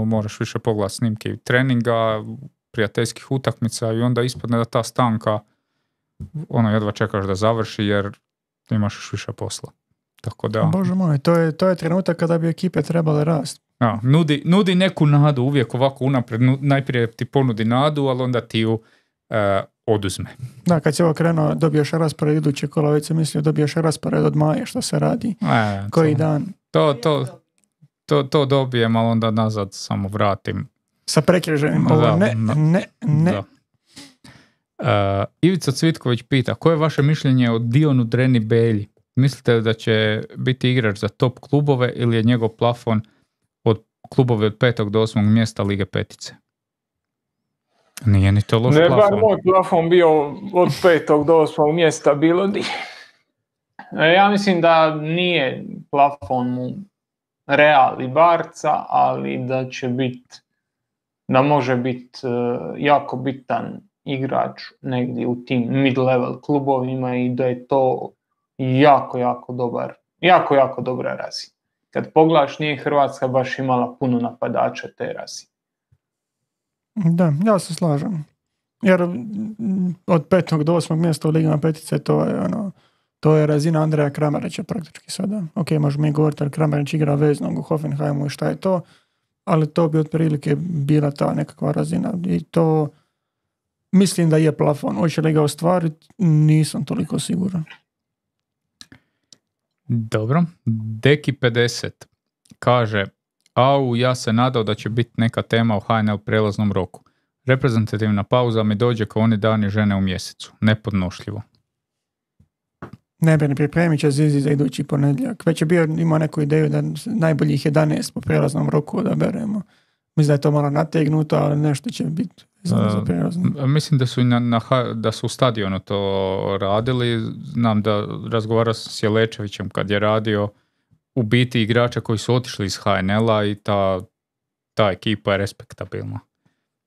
S2: moraš više pogledati snimke treninga, prijateljskih utakmica i onda ispadne da ta stanka ono jedva čekaš da završi jer imaš još više posla. Tako da...
S1: Bože moj, to je, to je trenutak kada bi ekipe trebale rasti.
S2: Ja, nudi, nudi neku nadu, uvijek ovako unaprijed, najprije ti ponudi nadu, ali onda ti ju e, oduzme.
S1: Da, kad si ovo krenuo, dobiješ raspored iduće kola, već sam mislio dobiješ raspored od Maje, što se radi,
S2: e,
S1: koji
S2: to,
S1: dan.
S2: To, to, to, to dobijem, ali onda nazad samo vratim.
S1: Sa prekriženim, ovo
S2: da,
S1: ne,
S2: da,
S1: ne, ne.
S2: Da. Uh, Ivica Cvitković pita, koje je vaše mišljenje o Dionu Dreni Belji? Mislite da će biti igrač za top klubove ili je njegov plafon od klubove od petog do osmog mjesta Lige petice? Nije ni to loš
S3: ne,
S2: plafon.
S3: Ne, moj plafon bio od petog do osmog mjesta bilo di. Ja mislim da nije plafon mu Real i Barca, ali da će biti, da može biti uh, jako bitan igrač negdje u tim mid-level klubovima i da je to jako, jako dobar, jako, jako dobra razina. Kad pogledaš, nije Hrvatska baš imala puno napadača te razine.
S1: Da, ja se slažem. Jer od petog do osmog mjesta u Ligama petice to je ono, to je razina Andreja Kramarića praktički sada. Ok, možemo mi govoriti, ali Kramarić igra veznog u Hoffenheimu i šta je to, ali to bi otprilike bila ta nekakva razina i to mislim da je plafon. Hoće li ga ostvariti? Nisam toliko siguran.
S2: Dobro. Deki pedeset kaže, au, ja se nadao da će biti neka tema o H N L prelaznom roku. Reprezentativna pauza mi dođe kao oni dani žene u mjesecu. Nepodnošljivo.
S1: Ne brini, pripremit će Zizi za idući ponedjeljak. Već je bio, imao neku ideju da najboljih jedanaest po prelaznom roku odaberemo. Mislim da je to malo nategnuto, ali nešto će biti za, za prelazno.
S2: Mislim da su, i na, na, da su u stadionu to radili. Znam da razgovarao sam s Jelečevićem kad je radio u biti igrača koji su otišli iz H N L-a i ta, ta ekipa je respektabilna.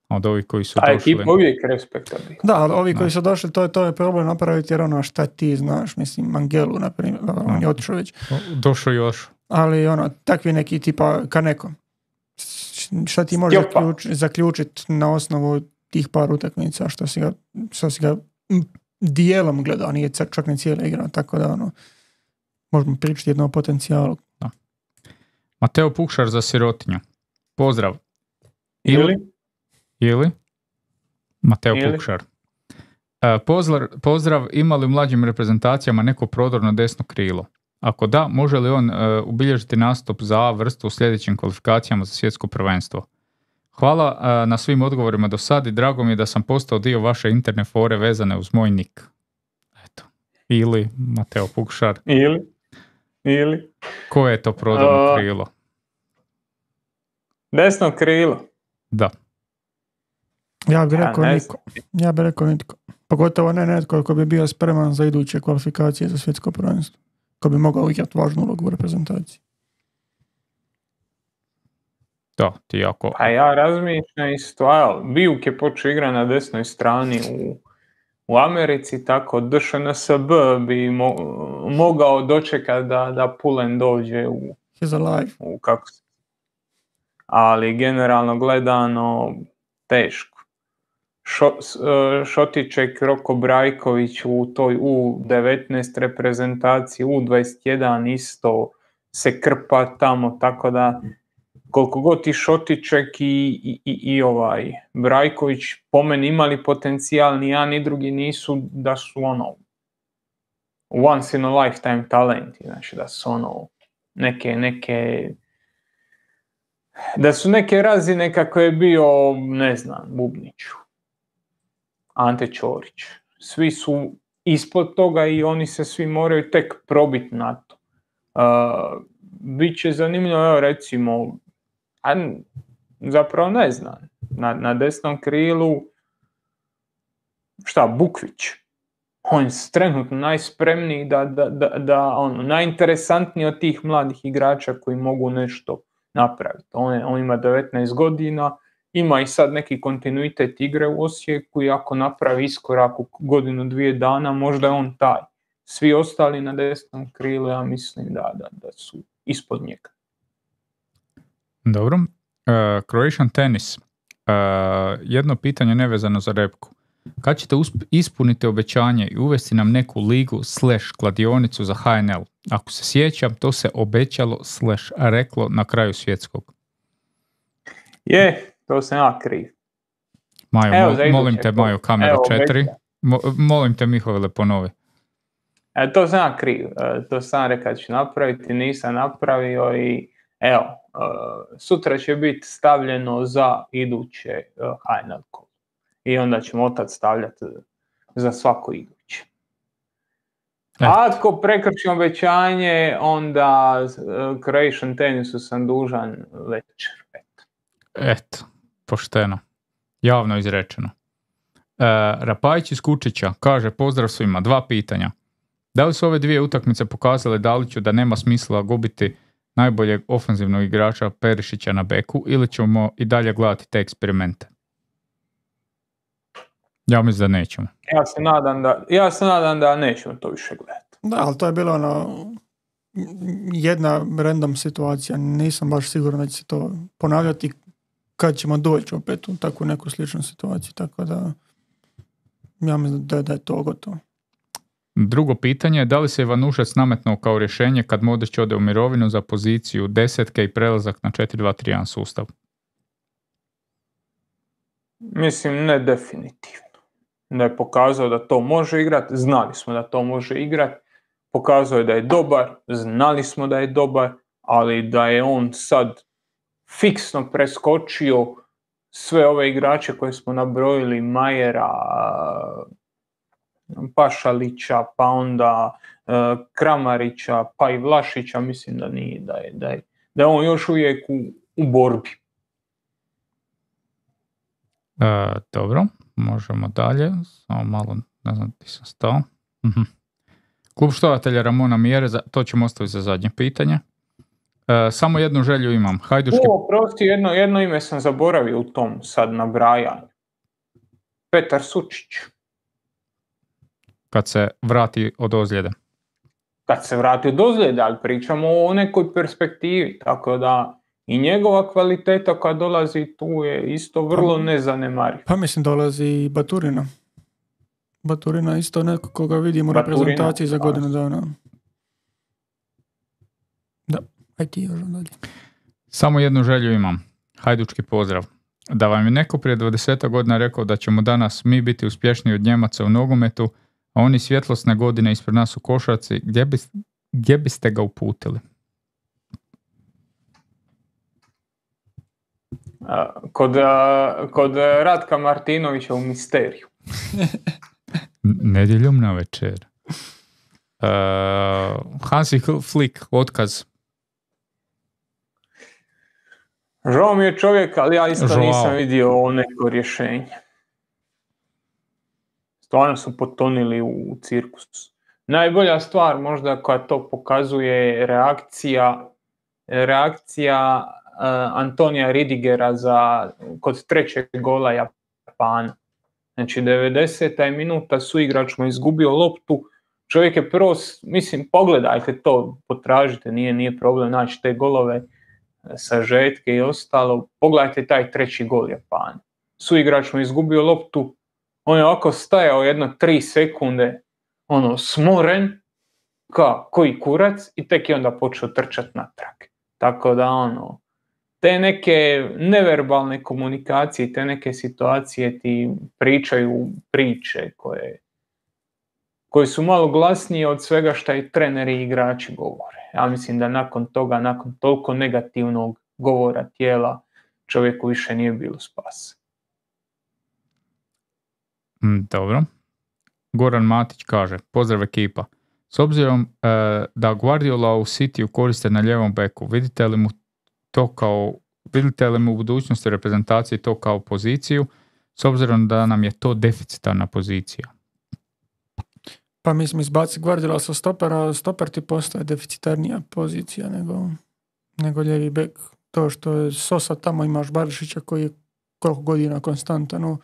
S2: Od ovih koji su
S3: ta
S2: došli...
S3: ekipa uvijek respektabilna.
S1: Da, ali ovi koji su došli, to je, to je problem napraviti jer ono šta ti znaš, mislim, Mangelu, na primjer, on je otišao već.
S2: Došao još.
S1: Ali ono, takvi neki tipa Kaneko. Šta ti možeš zaključ, zaključiti na osnovu tih par utakmica što si ga, što si ga dijelom gledao, nije čak ni cijela igra, tako da ono, možemo pričati jedno o potencijalu.
S2: Da. Mateo Pukšar za sirotinju. Pozdrav.
S3: Ili?
S2: Ili? Mateo
S3: Ili?
S2: Pukšar. E, pozdrav, pozdrav, ima li u mlađim reprezentacijama neko prodorno desno krilo? Ako da, može li on e, ubilježiti nastup za A vrstu u sljedećim kvalifikacijama za svjetsko prvenstvo? Hvala e, na svim odgovorima do sad i drago mi je da sam postao dio vaše interne fore vezane uz moj nik. Eto. Ili Mateo Pukšar.
S3: Ili? Ili?
S2: Koje je to prodorno
S3: uh,
S2: krilo?
S3: Desno krilo.
S2: Da.
S1: Ja bih rekao ja, niko. Ja bih rekao nitko. Pogotovo ne netko ko bi bio spreman za iduće kvalifikacije za svjetsko prvenstvo. Ko bi mogao igrati važnu ulogu u reprezentaciji.
S2: Da, ti jako...
S3: A ja razmišljam isto, a Bijuk je počeo igrati na desnoj strani u, u Americi, tako D Š N S B bi mo, mogao dočekati da, da Pulen dođe u...
S1: He's alive.
S3: U kako se... Ali generalno gledano teško. Šo, Šotiček, Roko Brajković u toj U devetnaest reprezentaciji, U dvadeset jedan isto se krpa tamo, tako da koliko god i Šotiček i, i, i, i ovaj Brajković po meni imali potencijal, ni jedan ni drugi nisu da su ono once in a lifetime talenti, znači da su ono neke, neke da su neke razine kako je bio, ne znam, Bubniću, Ante Ćorić. Svi su ispod toga i oni se svi moraju tek probiti na to. Uh, Biće zanimljivo, evo recimo, a zapravo ne znam, na, na desnom krilu, šta, Bukvić. On je trenutno najspremniji, da, da, da, da, ono, najinteresantniji od tih mladih igrača koji mogu nešto napraviti. On, je, on ima devetnaest godina, ima i sad neki kontinuitet igre u Osijeku i ako napravi iskorak u godinu, dvije dana, možda je on taj. Svi ostali na desnom krilu, ja mislim da, da, da su ispod njega.
S2: Dobro. Uh, Croatian Tennis. Uh, jedno pitanje nevezano za repku. Kad ćete usp- ispuniti obećanje i uvesti nam neku ligu slash kladionicu za H N L? Ako se sjećam, to se obećalo slash reklo na kraju svjetskog.
S3: Je, to sam ja kriv.
S2: Majo, Evo, mo- molim te, Majo, kamera četiri. Mo- molim te, Mihovile, ponovi.
S3: E, to sam ja kriv. E, to sam rekao da ću napraviti, nisam napravio i evo, e, sutra će biti stavljeno za iduće e, H N L kolo. I onda ćemo otad stavljati za svako iduće. A ako prekršim obećanje, onda uh, Croatian Tennisu sam dužan večer. Eto,
S2: Eto pošteno. Javno izrečeno. E, Rapajić iz Kučića kaže: pozdrav svima, dva pitanja. Da li su ove dvije utakmice pokazale Daliću da nema smisla gubiti najboljeg ofenzivnog igrača Perišića na beku ili ćemo i dalje gledati te eksperimente? Ja mislim da nećemo.
S3: Ja se nadam da, ja se nadam da nećemo to više gledati.
S1: Da, ali to je bilo ono, jedna random situacija. Nisam baš siguran da će se to ponavljati kad ćemo doći opet u takvu neku sličnu situaciju. Tako da ja mislim da, da je to gotovo.
S2: Drugo pitanje je da li se Ivanušac nametnuo kao rješenje kad Modrić ode u mirovinu za poziciju desetke i prelazak na četiri dva tri jedan sustav?
S3: Mislim, ne definitivno. Da je pokazao da to može igrati, znali smo da to može igrati, pokazao je da je dobar, znali smo da je dobar, ali da je on sad fiksno preskočio sve ove igrače koje smo nabrojili, Majera, Pašalića, pa onda uh, Kramarića, pa i Vlašića, mislim da nije, da je, da je, da je on još uvijek u, u borbi.
S2: E, dobro, možemo dalje. Samo malo, ne znam, ti sam stao. Uh-huh. Klub štovatelja Ramona Mjereza, to ćemo ostaviti za zadnje pitanje. E, samo jednu želju imam. Hajduški...
S3: O, prosti, jedno, jedno ime sam zaboravio u tom sad nabrajanju. Petar Sučić.
S2: Kad se vrati od ozljede.
S3: Kad se vrati od ozljede, ali pričamo o nekoj perspektivi, tako da i njegova kvaliteta koja dolazi tu je isto vrlo nezanemariva.
S1: Pa mislim dolazi i Baturina. Baturina isto neko koga vidimo u reprezentaciji za godinu dana. Da, aj ti još dalje.
S2: Samo jednu želju imam. Hajdučki pozdrav. Da vam je neko prije dvadeset godina rekao da ćemo danas mi biti uspješniji od Njemaca u nogometu, a oni svjetlosne godine ispred nas u košarci, gdje, bi, gdje biste ga uputili?
S3: Kod, kod Ratka Martinovića u Misteriju.
S2: Nedjeljom na večer. Uh, Hansi Flick, otkaz.
S3: Žao mi je čovjek, ali ja isto Žao. nisam vidio neko rješenje. Stvarno su potonili u cirkus. Najbolja stvar možda koja to pokazuje reakcija reakcija uh, Antonija Ridigera za, kod trećeg gola Japana. Znači devedeseta minuta suigrač mu izgubio loptu. Čovjek je prvo, mislim, pogledajte to, potražite, nije, nije problem naći te golove, sažetke i ostalo. Pogledajte taj treći gol Japana. Suigrač mu izgubio loptu, on je ovako stajao jedno tri sekunde, ono, smoren, ka, koji kurac, i tek je onda počeo trčati natrag. Tako da, ono, te neke neverbalne komunikacije, te neke situacije ti pričaju priče koje, koje su malo glasnije od svega što i treneri i igrači govore. Ja mislim da nakon toga, nakon toliko negativnog govora tijela, čovjeku više nije bilo spasa.
S2: Dobro. Goran Matić kaže, pozdrav ekipa. S obzirom e, da Guardiola u Cityu koriste na ljevom beku, vidite li mu to kao, vidite li mu u budućnosti reprezentacije to kao poziciju, s obzirom da nam je to deficitarna pozicija?
S1: Pa mislim, izbaci Guardiola sa stopera, stoper ti postaje deficitarnija pozicija nego, nego ljevi bek. To što je Sosa tamo, imaš Barišića koji je koliko godina konstantan u,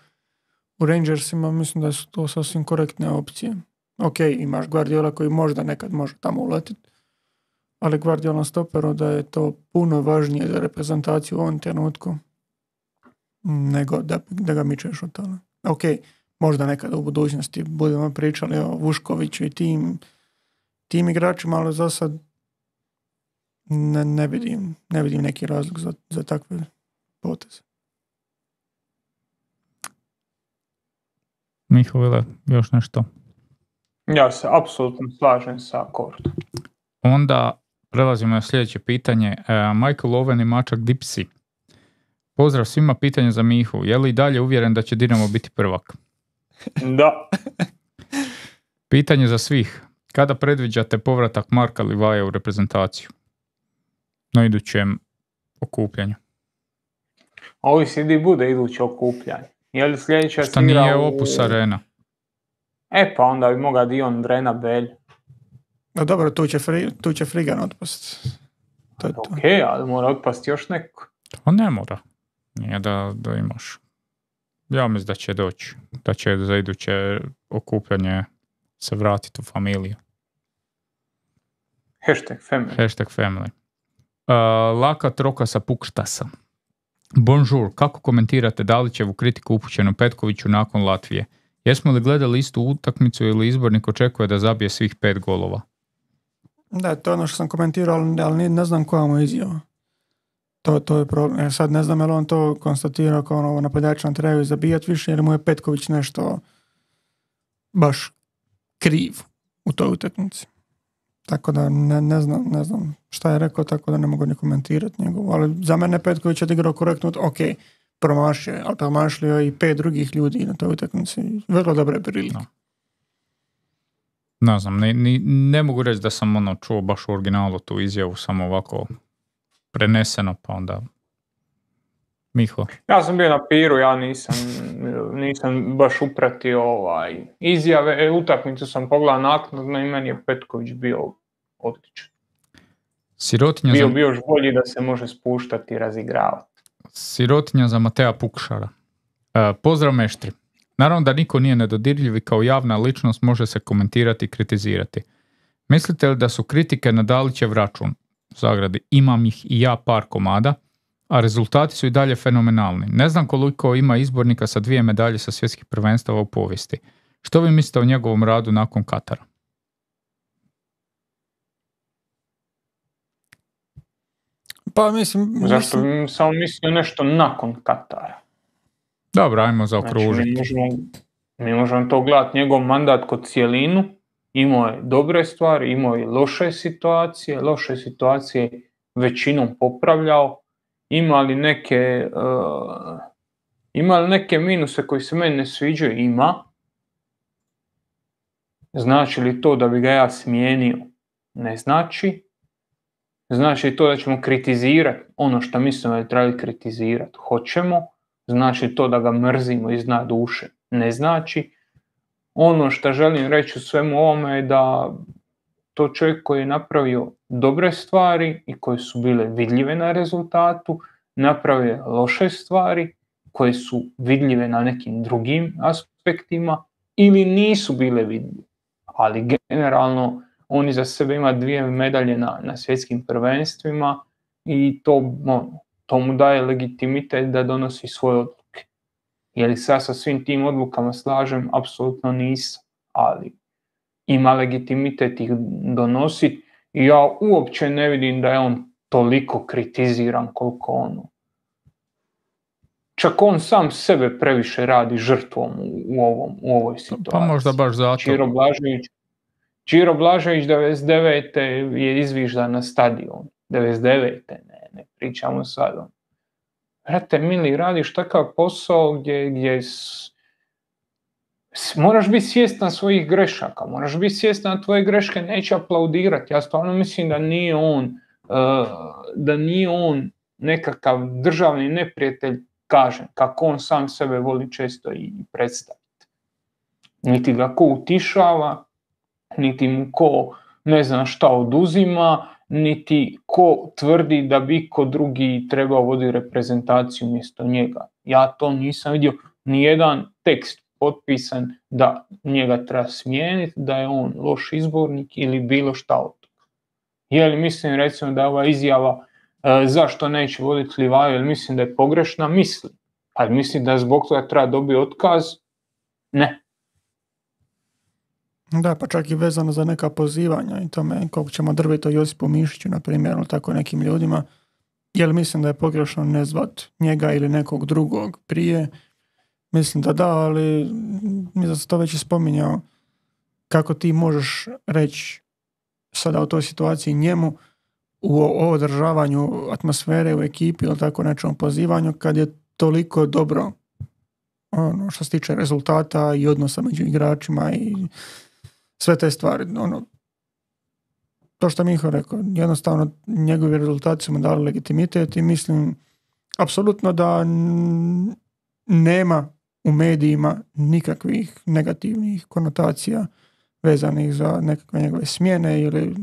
S1: u Rangersima, mislim da su to sasvim korektne opcije. Ok, imaš Guardiola koji možda nekad može tamo uletiti, ali Guardiola na stoperu da je to puno važnije za reprezentaciju u ovom trenutku nego da, da ga mičeš od toga. Ok, možda nekada u budućnosti budemo pričali o Vuškoviću i tim, tim igračima, ali za sad ne, ne, vidim, ne vidim neki razlog za, za takve poteze.
S2: Mihovile, još nešto?
S3: Ja se apsolutno slažem sa Kordom.
S2: Onda prelazimo na sljedeće pitanje. Uh, Michael Owen i Mačak Dipsi. Pozdrav svima, pitanje za Mihu. Je li i dalje uvjeren da će Dinamo biti prvak?
S3: Da.
S2: Pitanje za svih. Kada predviđate povratak Marka Livaja u reprezentaciju? Na idućem okupljanju.
S3: Ovisi di bude iduće okupljanje. Je li sljedeća
S2: Šta nije u... Opus Arena?
S3: E pa onda bi mogao Dion Drena Belj.
S1: No dobro, tu će, fri, tu će Frigan otpast. To je to.
S3: Ok, ali mora otpasti još neko.
S2: To ne mora. Nije da, da imaš. Ja mislim da će doći. Da će za iduće okupljanje se vratiti u familiju.
S3: Hashtag family.
S2: Hashtag family. Uh, Laka troka sa Pukštasa. Bonjour, kako komentirate Dalićevu kritiku upućenu Petkoviću nakon Latvije? Jesmo li gledali istu utakmicu ili izbornik očekuje da zabije svih pet golova?
S1: Da, to je ono što sam komentirao, ali ne znam koja mu je izjava. To, to je problem. Ja sad ne znam je li on to konstatirao kao ono napadač nam trebaju zabijati više ili mu je Petković nešto baš kriv u toj utakmici. Tako da ne, ne, znam, ne znam šta je rekao, tako da ne mogu ni komentirati njegovu. Ali za mene Petković je odigrao korektno, ok, promašio, ali promašio i pet drugih ljudi na toj utakmici. Vrlo dobre prilike.
S2: No. Ne znam, ne, ne, ne mogu reći da sam ono čuo baš u originalu tu izjavu, samo ovako preneseno, pa onda Miho.
S3: Ja sam bio na piru, ja nisam, nisam baš upratio ovaj izjave, utakmicu sam pogledao naknadno i meni je Petković bio odličan.
S2: Sirotinja
S3: bio
S2: za...
S3: bio još bolji da se može spuštati i razigravati.
S2: Sirotinja za Mateja Pukšara. E, pozdrav meštri. Naravno da niko nije nedodirljiv i kao javna ličnost može se komentirati i kritizirati. Mislite li da su kritike na Dalićev račun, u zagradi, imam ih i ja par komada, a rezultati su i dalje fenomenalni. Ne znam koliko ima izbornika sa dvije medalje sa svjetskih prvenstava u povijesti. Što vi mislite o njegovom radu nakon Katara?
S1: Pa mislim...
S3: Zašto
S1: mislim...
S3: bi samo mislio nešto nakon Katara?
S2: Dobro, ajmo zaokružiti.
S3: Znači, mi, možemo, mi možemo to gledati, njegov mandat kod cijelinu, imao je dobre stvari, imao je loše situacije, loše situacije većinom popravljao, imali neke, uh, imali neke minuse koji se meni ne sviđaju, ima. Znači li to da bi ga ja smijenio? Ne znači. Znači li to da ćemo kritizirati ono što mislimo da trebali kritizirati? Hoćemo. Znači to da ga mrzimo iz dna duše? Ne znači. Ono što želim reći u svemu ovome je da to čovjek koji je napravio dobre stvari i koje su bile vidljive na rezultatu, napravio loše stvari koje su vidljive na nekim drugim aspektima ili nisu bile vidljive. Ali generalno on iza sebe ima dvije medalje na, na svjetskim prvenstvima i to, on, to mu daje legitimitet da donosi svoje odluke. Je li sad sa svim tim odlukama slažem? Apsolutno nisam, ali ima legitimitet ih donositi i ja uopće ne vidim da je on toliko kritiziran koliko ono čak on sam sebe previše radi žrtvom u, u, ovom, u ovoj situaciji.
S2: Pa možda baš zato.
S3: Čiro Blažević, Čiro Blažević devedeset devete je izviždan na stadion. devedeset devete ne, ne pričamo sad. Brate, mili, radiš takav posao gdje, gdje s, s, moraš biti svjestan svojih grešaka, moraš biti svjestan da tvoje greške neće aplaudirati. Ja stvarno mislim da nije on, uh, da nije on nekakav državni neprijatelj, kažem, kako on sam sebe voli često i predstaviti. Niti ga ko utišava, niti mu ko ne znam šta oduzima, niti ko tvrdi da bi ko drugi trebao voditi reprezentaciju mjesto njega. Ja to nisam vidio, nijedan tekst potpisan da njega treba smijeniti, da je on loš izbornik ili bilo šta od toga. Je li mislim recimo da je ova izjava e, zašto neće voditi Livaju, jer mislim da je pogrešna, mislim. Ali mislim da zbog toga treba dobiti otkaz, ne.
S1: Da, pa čak i vezano za neka pozivanja i tome koliko ćemo drviti o Josipu Mišiću, na primjer, ili tako nekim ljudima, jer mislim da je pogrešno ne zvat njega ili nekog drugog prije. Mislim da da, ali mi sam to već i spominjao, kako ti možeš reći sada u toj situaciji njemu u održavanju atmosfere u ekipi ili tako nečemu pozivanju, kad je toliko dobro ono, što se tiče rezultata i odnosa među igračima i sve te stvari. Ono, to što Miho rekao, jednostavno njegovi rezultati su mu dali legitimitet i mislim apsolutno da n- nema u medijima nikakvih negativnih konotacija vezanih za nekakve njegove smjene ili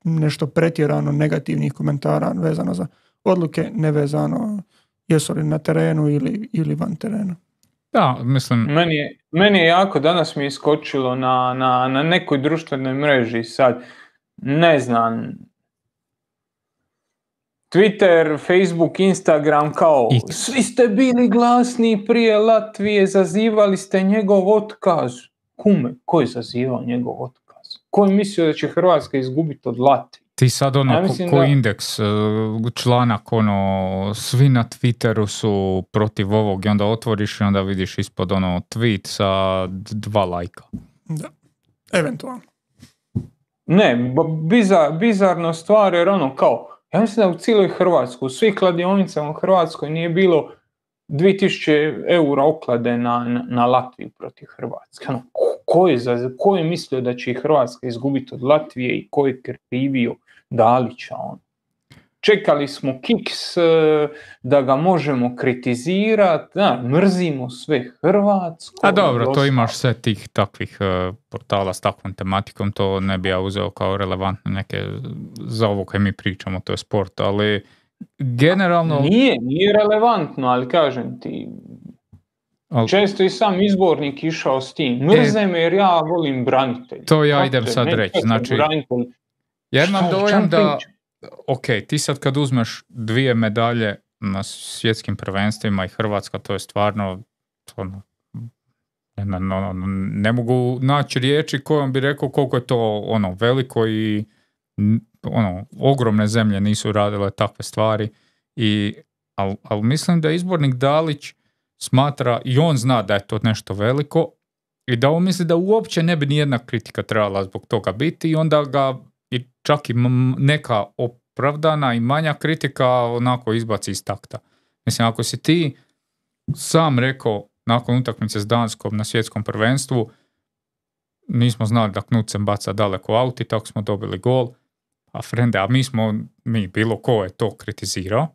S1: nešto pretjerano negativnih komentara vezano za odluke, nevezano jesu li na terenu ili, ili van terena.
S2: Da, mislim...
S3: Meni je, meni je jako, danas mi je iskočilo na, na, na nekoj društvenoj mreži sad, ne znam, Twitter, Facebook, Instagram, kao
S2: I...
S3: svi ste bili glasni prije Latvije, zazivali ste njegov otkaz. Kume, ko je zazivao njegov otkaz? Ko je mislio da će Hrvatska izgubiti od Latvije?
S2: Ti sad ono,
S3: ja
S2: ko, ko
S3: da...
S2: indeks, članak, ono, svi na Twitteru su protiv ovog i onda otvoriš i onda vidiš ispod ono tweet sa dva lajka.
S1: Da, eventualno.
S3: Ne, bizar, bizarno stvar jer ono kao, ja mislim da u cijeloj Hrvatskoj, u svih kladionicama u Hrvatskoj nije bilo dvije tisuće eura oklade na, na, na Latviju protiv Hrvatske. Ono, ko, je za, ko je mislio da će Hrvatska izgubiti od Latvije i ko je krivio Dalića? On. Čekali smo kiks da ga možemo kritizirati, da, mrzimo sve Hrvatsko.
S2: A dobro, to imaš sve tih takvih uh, portala s takvom tematikom, to ne bi ja uzeo kao relevantne neke za ovo koje mi pričamo, to je sport, ali generalno...
S3: Nije, nije relevantno, ali kažem ti, al... često i sam izbornik išao s tim. Mrze e, me jer ja volim branitelj.
S2: To ja idem sad reći. Znači, ja imam dojam da, ok, ti sad kad uzmeš dvije medalje na svjetskim prvenstvima i Hrvatska, to je stvarno, ono, ne, ne, ne mogu naći riječi kojom bi rekao koliko je to ono veliko i ono, ogromne zemlje nisu radile takve stvari, i, ali al mislim da izbornik Dalić smatra i on zna da je to nešto veliko i da on misli da uopće ne bi nijedna kritika trebala zbog toga biti i onda ga i čak i neka opravdana i manja kritika onako izbaci iz takta. Mislim, ako si ti sam rekao nakon utakmice s Danskom na svjetskom prvenstvu nismo znali da Knudsen baca daleko aut i tako smo dobili gol, a frende, a mi smo, mi bilo ko je to kritizirao,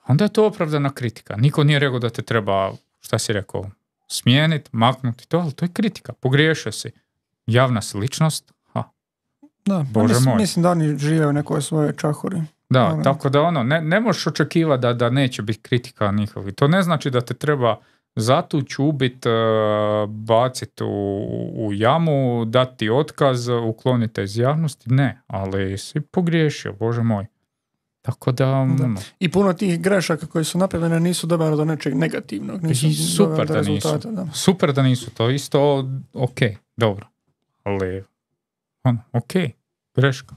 S2: onda je to opravdana kritika. Niko nije rekao da te treba, šta si rekao, smijeniti, maknuti to, ali to je kritika. Pogriješio si. Javna si ličnost, ha.
S1: Da,
S2: Bože
S1: mislim,
S2: moj.
S1: mislim da oni žive u nekoj svojoj čahuri.
S2: Da,
S1: ono.
S2: Tako da ono, ne, ne možeš očekivati da, da neće biti kritika njihovi. To ne znači da te treba zatući, ubiti, baciti u, u jamu, dati otkaz, ukloniti iz javnosti. Ne, ali si pogriješio, Bože moj. Tako da...
S1: da. I puno tih grešaka koji su napravljene nisu doveli do nečeg negativnog. Nisu
S2: super da nisu. Da. Super da nisu. To isto ok, dobro. Ali, on, ok, greška.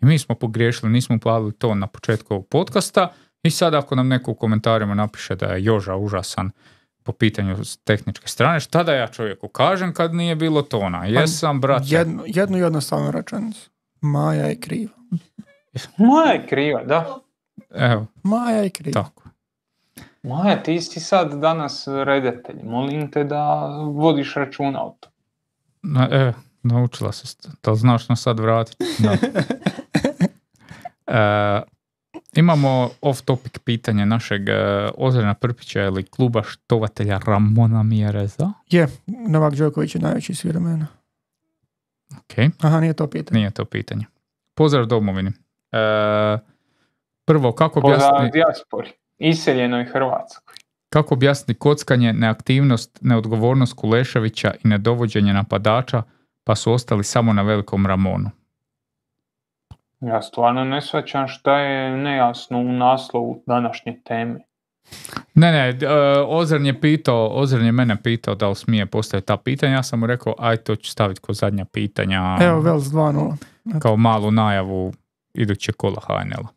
S2: I mi smo pogriješili, nismo uplavili to na početku ovog podcasta I sad ako nam neko u komentarima napiše da je Joža užasan po pitanju tehničke strane, šta da ja čovjeku kažem kad nije bilo tona? Jesam, brate.
S1: Jednu, jednu jednostavnu rečenicu. Maja je kriva.
S3: Maja je kriva, da.
S2: Evo,
S1: Maja je kriva.
S2: tako.
S3: Maja, ti si sad danas redatelj. Molim te da vodiš računa o to.
S2: Na, e, naučila se. Da li znaš nas sad vratiti? Da. E, imamo off-topic pitanje našeg e, Ozrena Prpića ili kluba štovatelja Ramona Mjereza.
S1: Je, Novak Đoković je najveći svih vremena.
S2: Ok,
S1: Aha, nije to pitanje.
S2: nije to pitanje. Pozdrav domovini. E, prvo, kako
S3: Pozdrav
S2: objasniti...
S3: dijaspori. Iseljenoj Hrvatskoj.
S2: Kako objasniti kockanje, neaktivnost, neodgovornost Kuleševića i nedovođenje napadača, pa su ostali samo na velikom Ramonu?
S3: Ja stvarno ne shvaćam šta je nejasno u naslovu današnje teme.
S2: Ne, ne, uh, Ozren je pitao, Ozren je mene pitao da li smije postaviti ta pitanja, ja sam mu rekao, aj to ću staviti kao zadnja pitanja,
S1: Evo, Vels dva nula.
S2: kao malu najavu iduće kola H N L-a.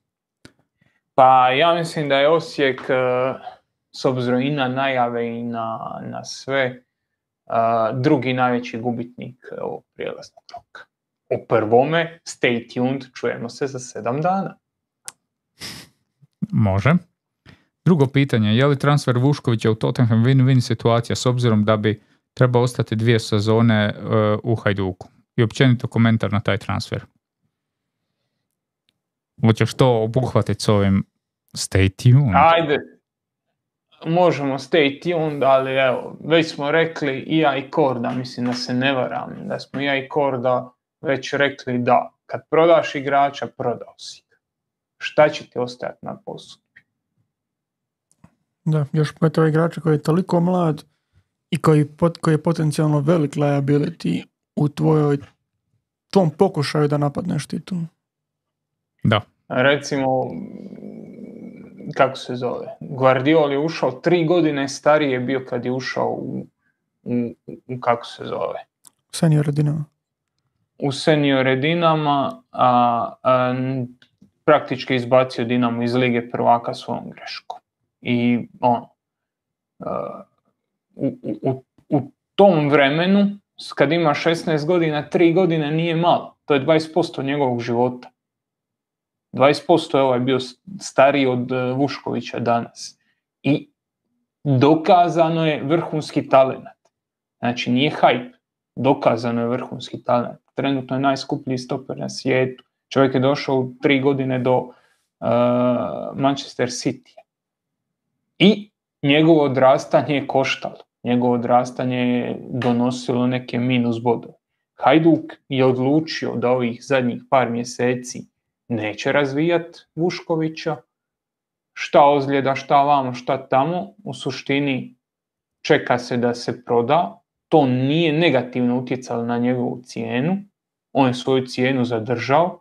S3: Pa ja mislim da je Osijek, uh, s obzirom i na najave i na, na sve, uh, drugi najveći gubitnik ovog prijelaznog roka. O prvome, stay tuned, čujemo se za sedam dana.
S2: Može. Drugo pitanje, je li transfer Vuškovića u Tottenham win-win situacija s obzirom da bi trebao ostati dvije sezone uh, u Hajduku? I općenito komentar na taj transfer. Hoćeš to obuhvatiti s ovim stay tuned?
S3: Ajde, možemo stay tuned, ali evo, već smo rekli i ja i Korda, mislim da se ne varam, da smo ja i Korda već rekli da kad prodaš igrača, prodao si ga. Šta će ti ostajati na poslu?
S1: Da, još to igrača koji je toliko mlad i koji, pot, koji je potencijalno velik liability u tvojoj, tvom pokušaju da napadneš titul.
S2: Da.
S3: Recimo, kako se zove, Guardiol je ušao tri godine starije bio kad je ušao u, u, u kako se zove?
S1: Senior Dinamo.
S3: U senior Dinama, a, a praktički izbacio Dinamo iz Lige prvaka svojom greškom. I ono, a, u, u, u tom vremenu, kad ima šesnaest godina, tri godine nije malo. To je dvadeset posto njegovog života. dvadeset posto je ovaj bio stariji od Vuškovića danas. I dokazano je vrhunski talent. Znači nije hype. Dokazano je vrhunski talent. Trenutno je najskuplji stoper na svijetu. Čovjek je došao u tri godine do uh, Manchester City. I njegovo odrastanje je koštalo. Njegovo odrastanje je donosilo neke minus bodove. Hajduk je odlučio da ovih zadnjih par mjeseci neće razvijati Vuškovića. Šta ozljeda, šta vamo, šta tamo. U suštini čeka se da se proda. To nije negativno utjecalo na njegovu cijenu. On je svoju cijenu zadržao.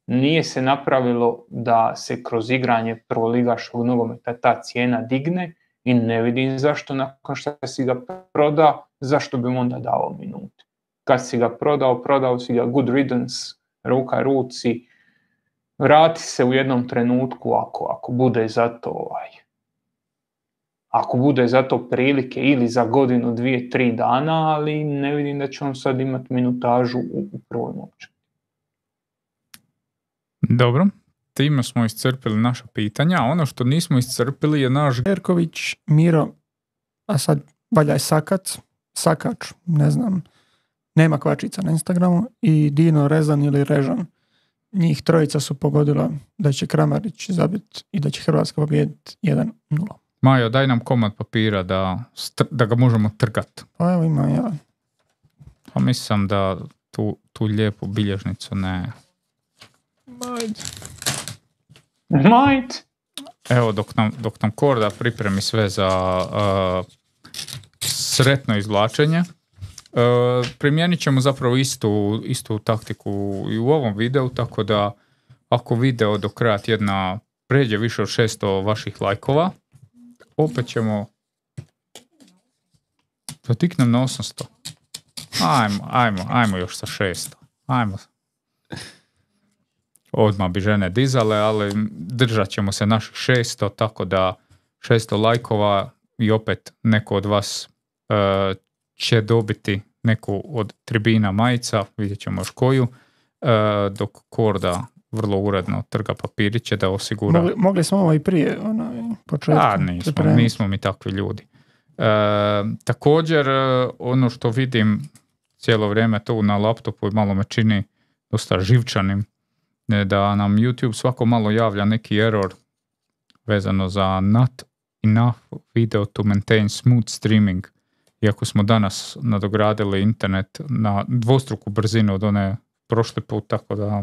S3: Nije se napravilo da se kroz igranje prvoligaškog nogometa ta cijena digne i ne vidim zašto nakon što si ga proda, zašto bi mu onda dao minute. Kad si ga prodao, prodao si ga good riddance, ruka ruci, vrati se u jednom trenutku ako, ako bude za to ovaj, ako bude za to prilike ili za godinu, dvije, tri dana, ali ne vidim da će on sad imati minutažu u, u prvoj momčadi.
S2: Dobro, time smo iscrpili naša pitanja. Ono što nismo iscrpili je naš...
S1: Erković, Miro, a sad valjaj Sakac, Sakač, ne znam, nema kvačica na Instagramu, i Dino Rezan ili Režan. Njih trojica su pogodila da će Kramarić zabiti i da će Hrvatska pobijediti jedan nula.
S2: Majo, daj nam komad papira da, da ga možemo trgati.
S1: Pa evo ima ja.
S2: Pa mislim da tu, tu lijepu bilježnicu ne...
S1: Majde.
S3: Majde.
S2: Evo, dok nam, dok nam Korda pripremi sve za uh, sretno izvlačenje, uh, primijenit ćemo zapravo istu, istu taktiku i u ovom videu, tako da ako video do kraja tjedna pređe više od šesto vaših lajkova, opet ćemo dotiknem na osamsto. Ajmo, ajmo, ajmo još sa šesto. Ajmo. odmah bi žene dizale, ali držat ćemo se naših šesto, tako da šesto lajkova i opet neko od vas uh, će dobiti neku od tribina majica, vidjet ćemo još koju, uh, dok Korda vrlo uredno trga papiriće da osigura.
S1: Mogli, mogli smo ovo i prije ono, početku.
S2: A, nismo, nismo mi takvi ljudi. Uh, također, uh, ono što vidim cijelo vrijeme tu na laptopu i malo me čini dosta živčanim, da nam YouTube svako malo javlja neki error vezano za not enough video to maintain smooth streaming. Iako smo danas nadogradili internet na dvostruku brzinu od one prošli put, tako da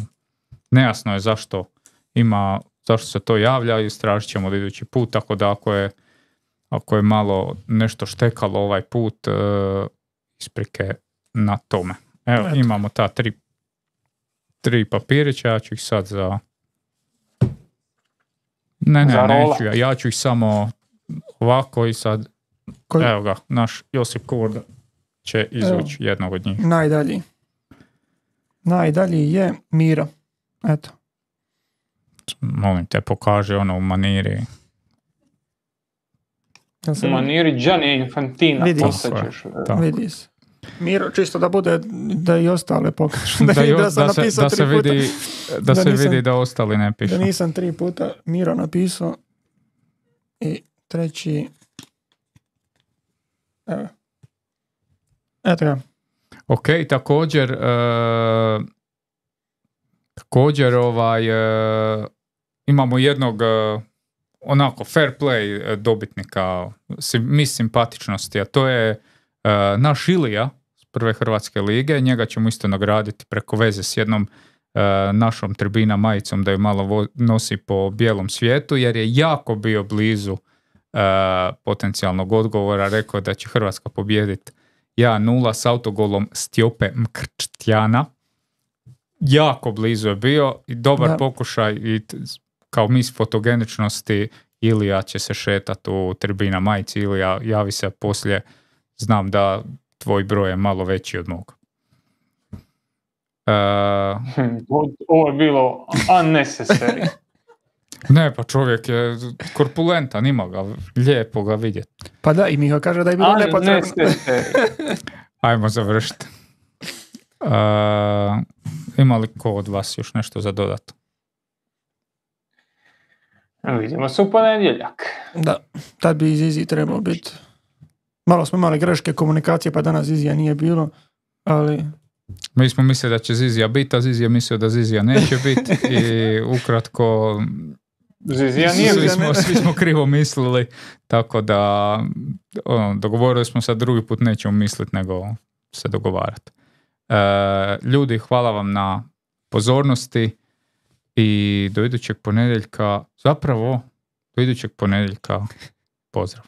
S2: nejasno je zašto ima, zašto se to javlja i istražit ćemo idući put, tako da ako je, ako je malo nešto štekalo ovaj put, uh, isprike na tome. Evo, Eto. imamo ta tri Tri papirića, ja ću ih sad za... Ne, ne, neću ja, ja ću ih samo ovako i sad... Koji? Evo ga, naš Josip Korda će izvući Evo. jednog od njih.
S1: Najdalji. Najdalji je Miro. Eto.
S2: Molim te, pokaži ono u maniri.
S3: U maniri Gianni Infantino.
S1: Vidi se. Vidi se. Miro, čisto da bude, da i ostale pokažu. Da, da, jo, da,
S2: da, se, da se vidi da, da se nisam, vidi da ostali ne pišu.
S1: Da nisam tri puta Miro napisao. I treći... Evo. Eto ga.
S2: Ok, također uh, također ovaj uh, imamo jednog uh, onako fair play dobitnika mi simpatičnosti, a to je uh, naš Ilija s prve Hrvatske lige. Njega ćemo isto nagraditi preko veze s jednom uh, našom tribina majicom da ju malo vo- nosi po bijelom svijetu, jer je jako bio blizu uh, potencijalnog odgovora. Rekao da će Hrvatska pobijediti jedan nula s autogolom Stjope Mkrtjana. Jako blizu je bio i dobar da. pokušaj i t- kao mis fotogeničnosti. Ilija će se šetati u tribina majici. Ilija, javi se poslije, znam da tvoj broj je malo veći od mog. Uh,
S3: Ovo je bilo unnecessary.
S2: Ne, pa čovjek je korpulentan, ima ga, lijepo ga vidjeti.
S1: Pa da, i Miho kaže da je bilo nepotrebno.
S2: Ajmo završiti. Uh, ima li ko od vas još nešto za dodat?
S3: Vidimo se u ponedjeljak.
S1: Da, tad bi Zizi trebao biti. Malo smo imali greške komunikacije, pa danas Zizija nije bilo, ali...
S2: Mi smo mislili da će Zizija biti, a Zizija mislio da Zizija neće biti i ukratko...
S3: Zizija nije
S2: svi, smo, svi smo krivo mislili, tako da ono, dogovorili smo se drugi put nećemo misliti nego se dogovarati. E, ljudi, hvala vam na pozornosti i do idućeg ponedjeljka, zapravo do idućeg ponedjeljka pozdrav.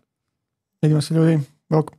S1: Vidimo se ljudi, bok.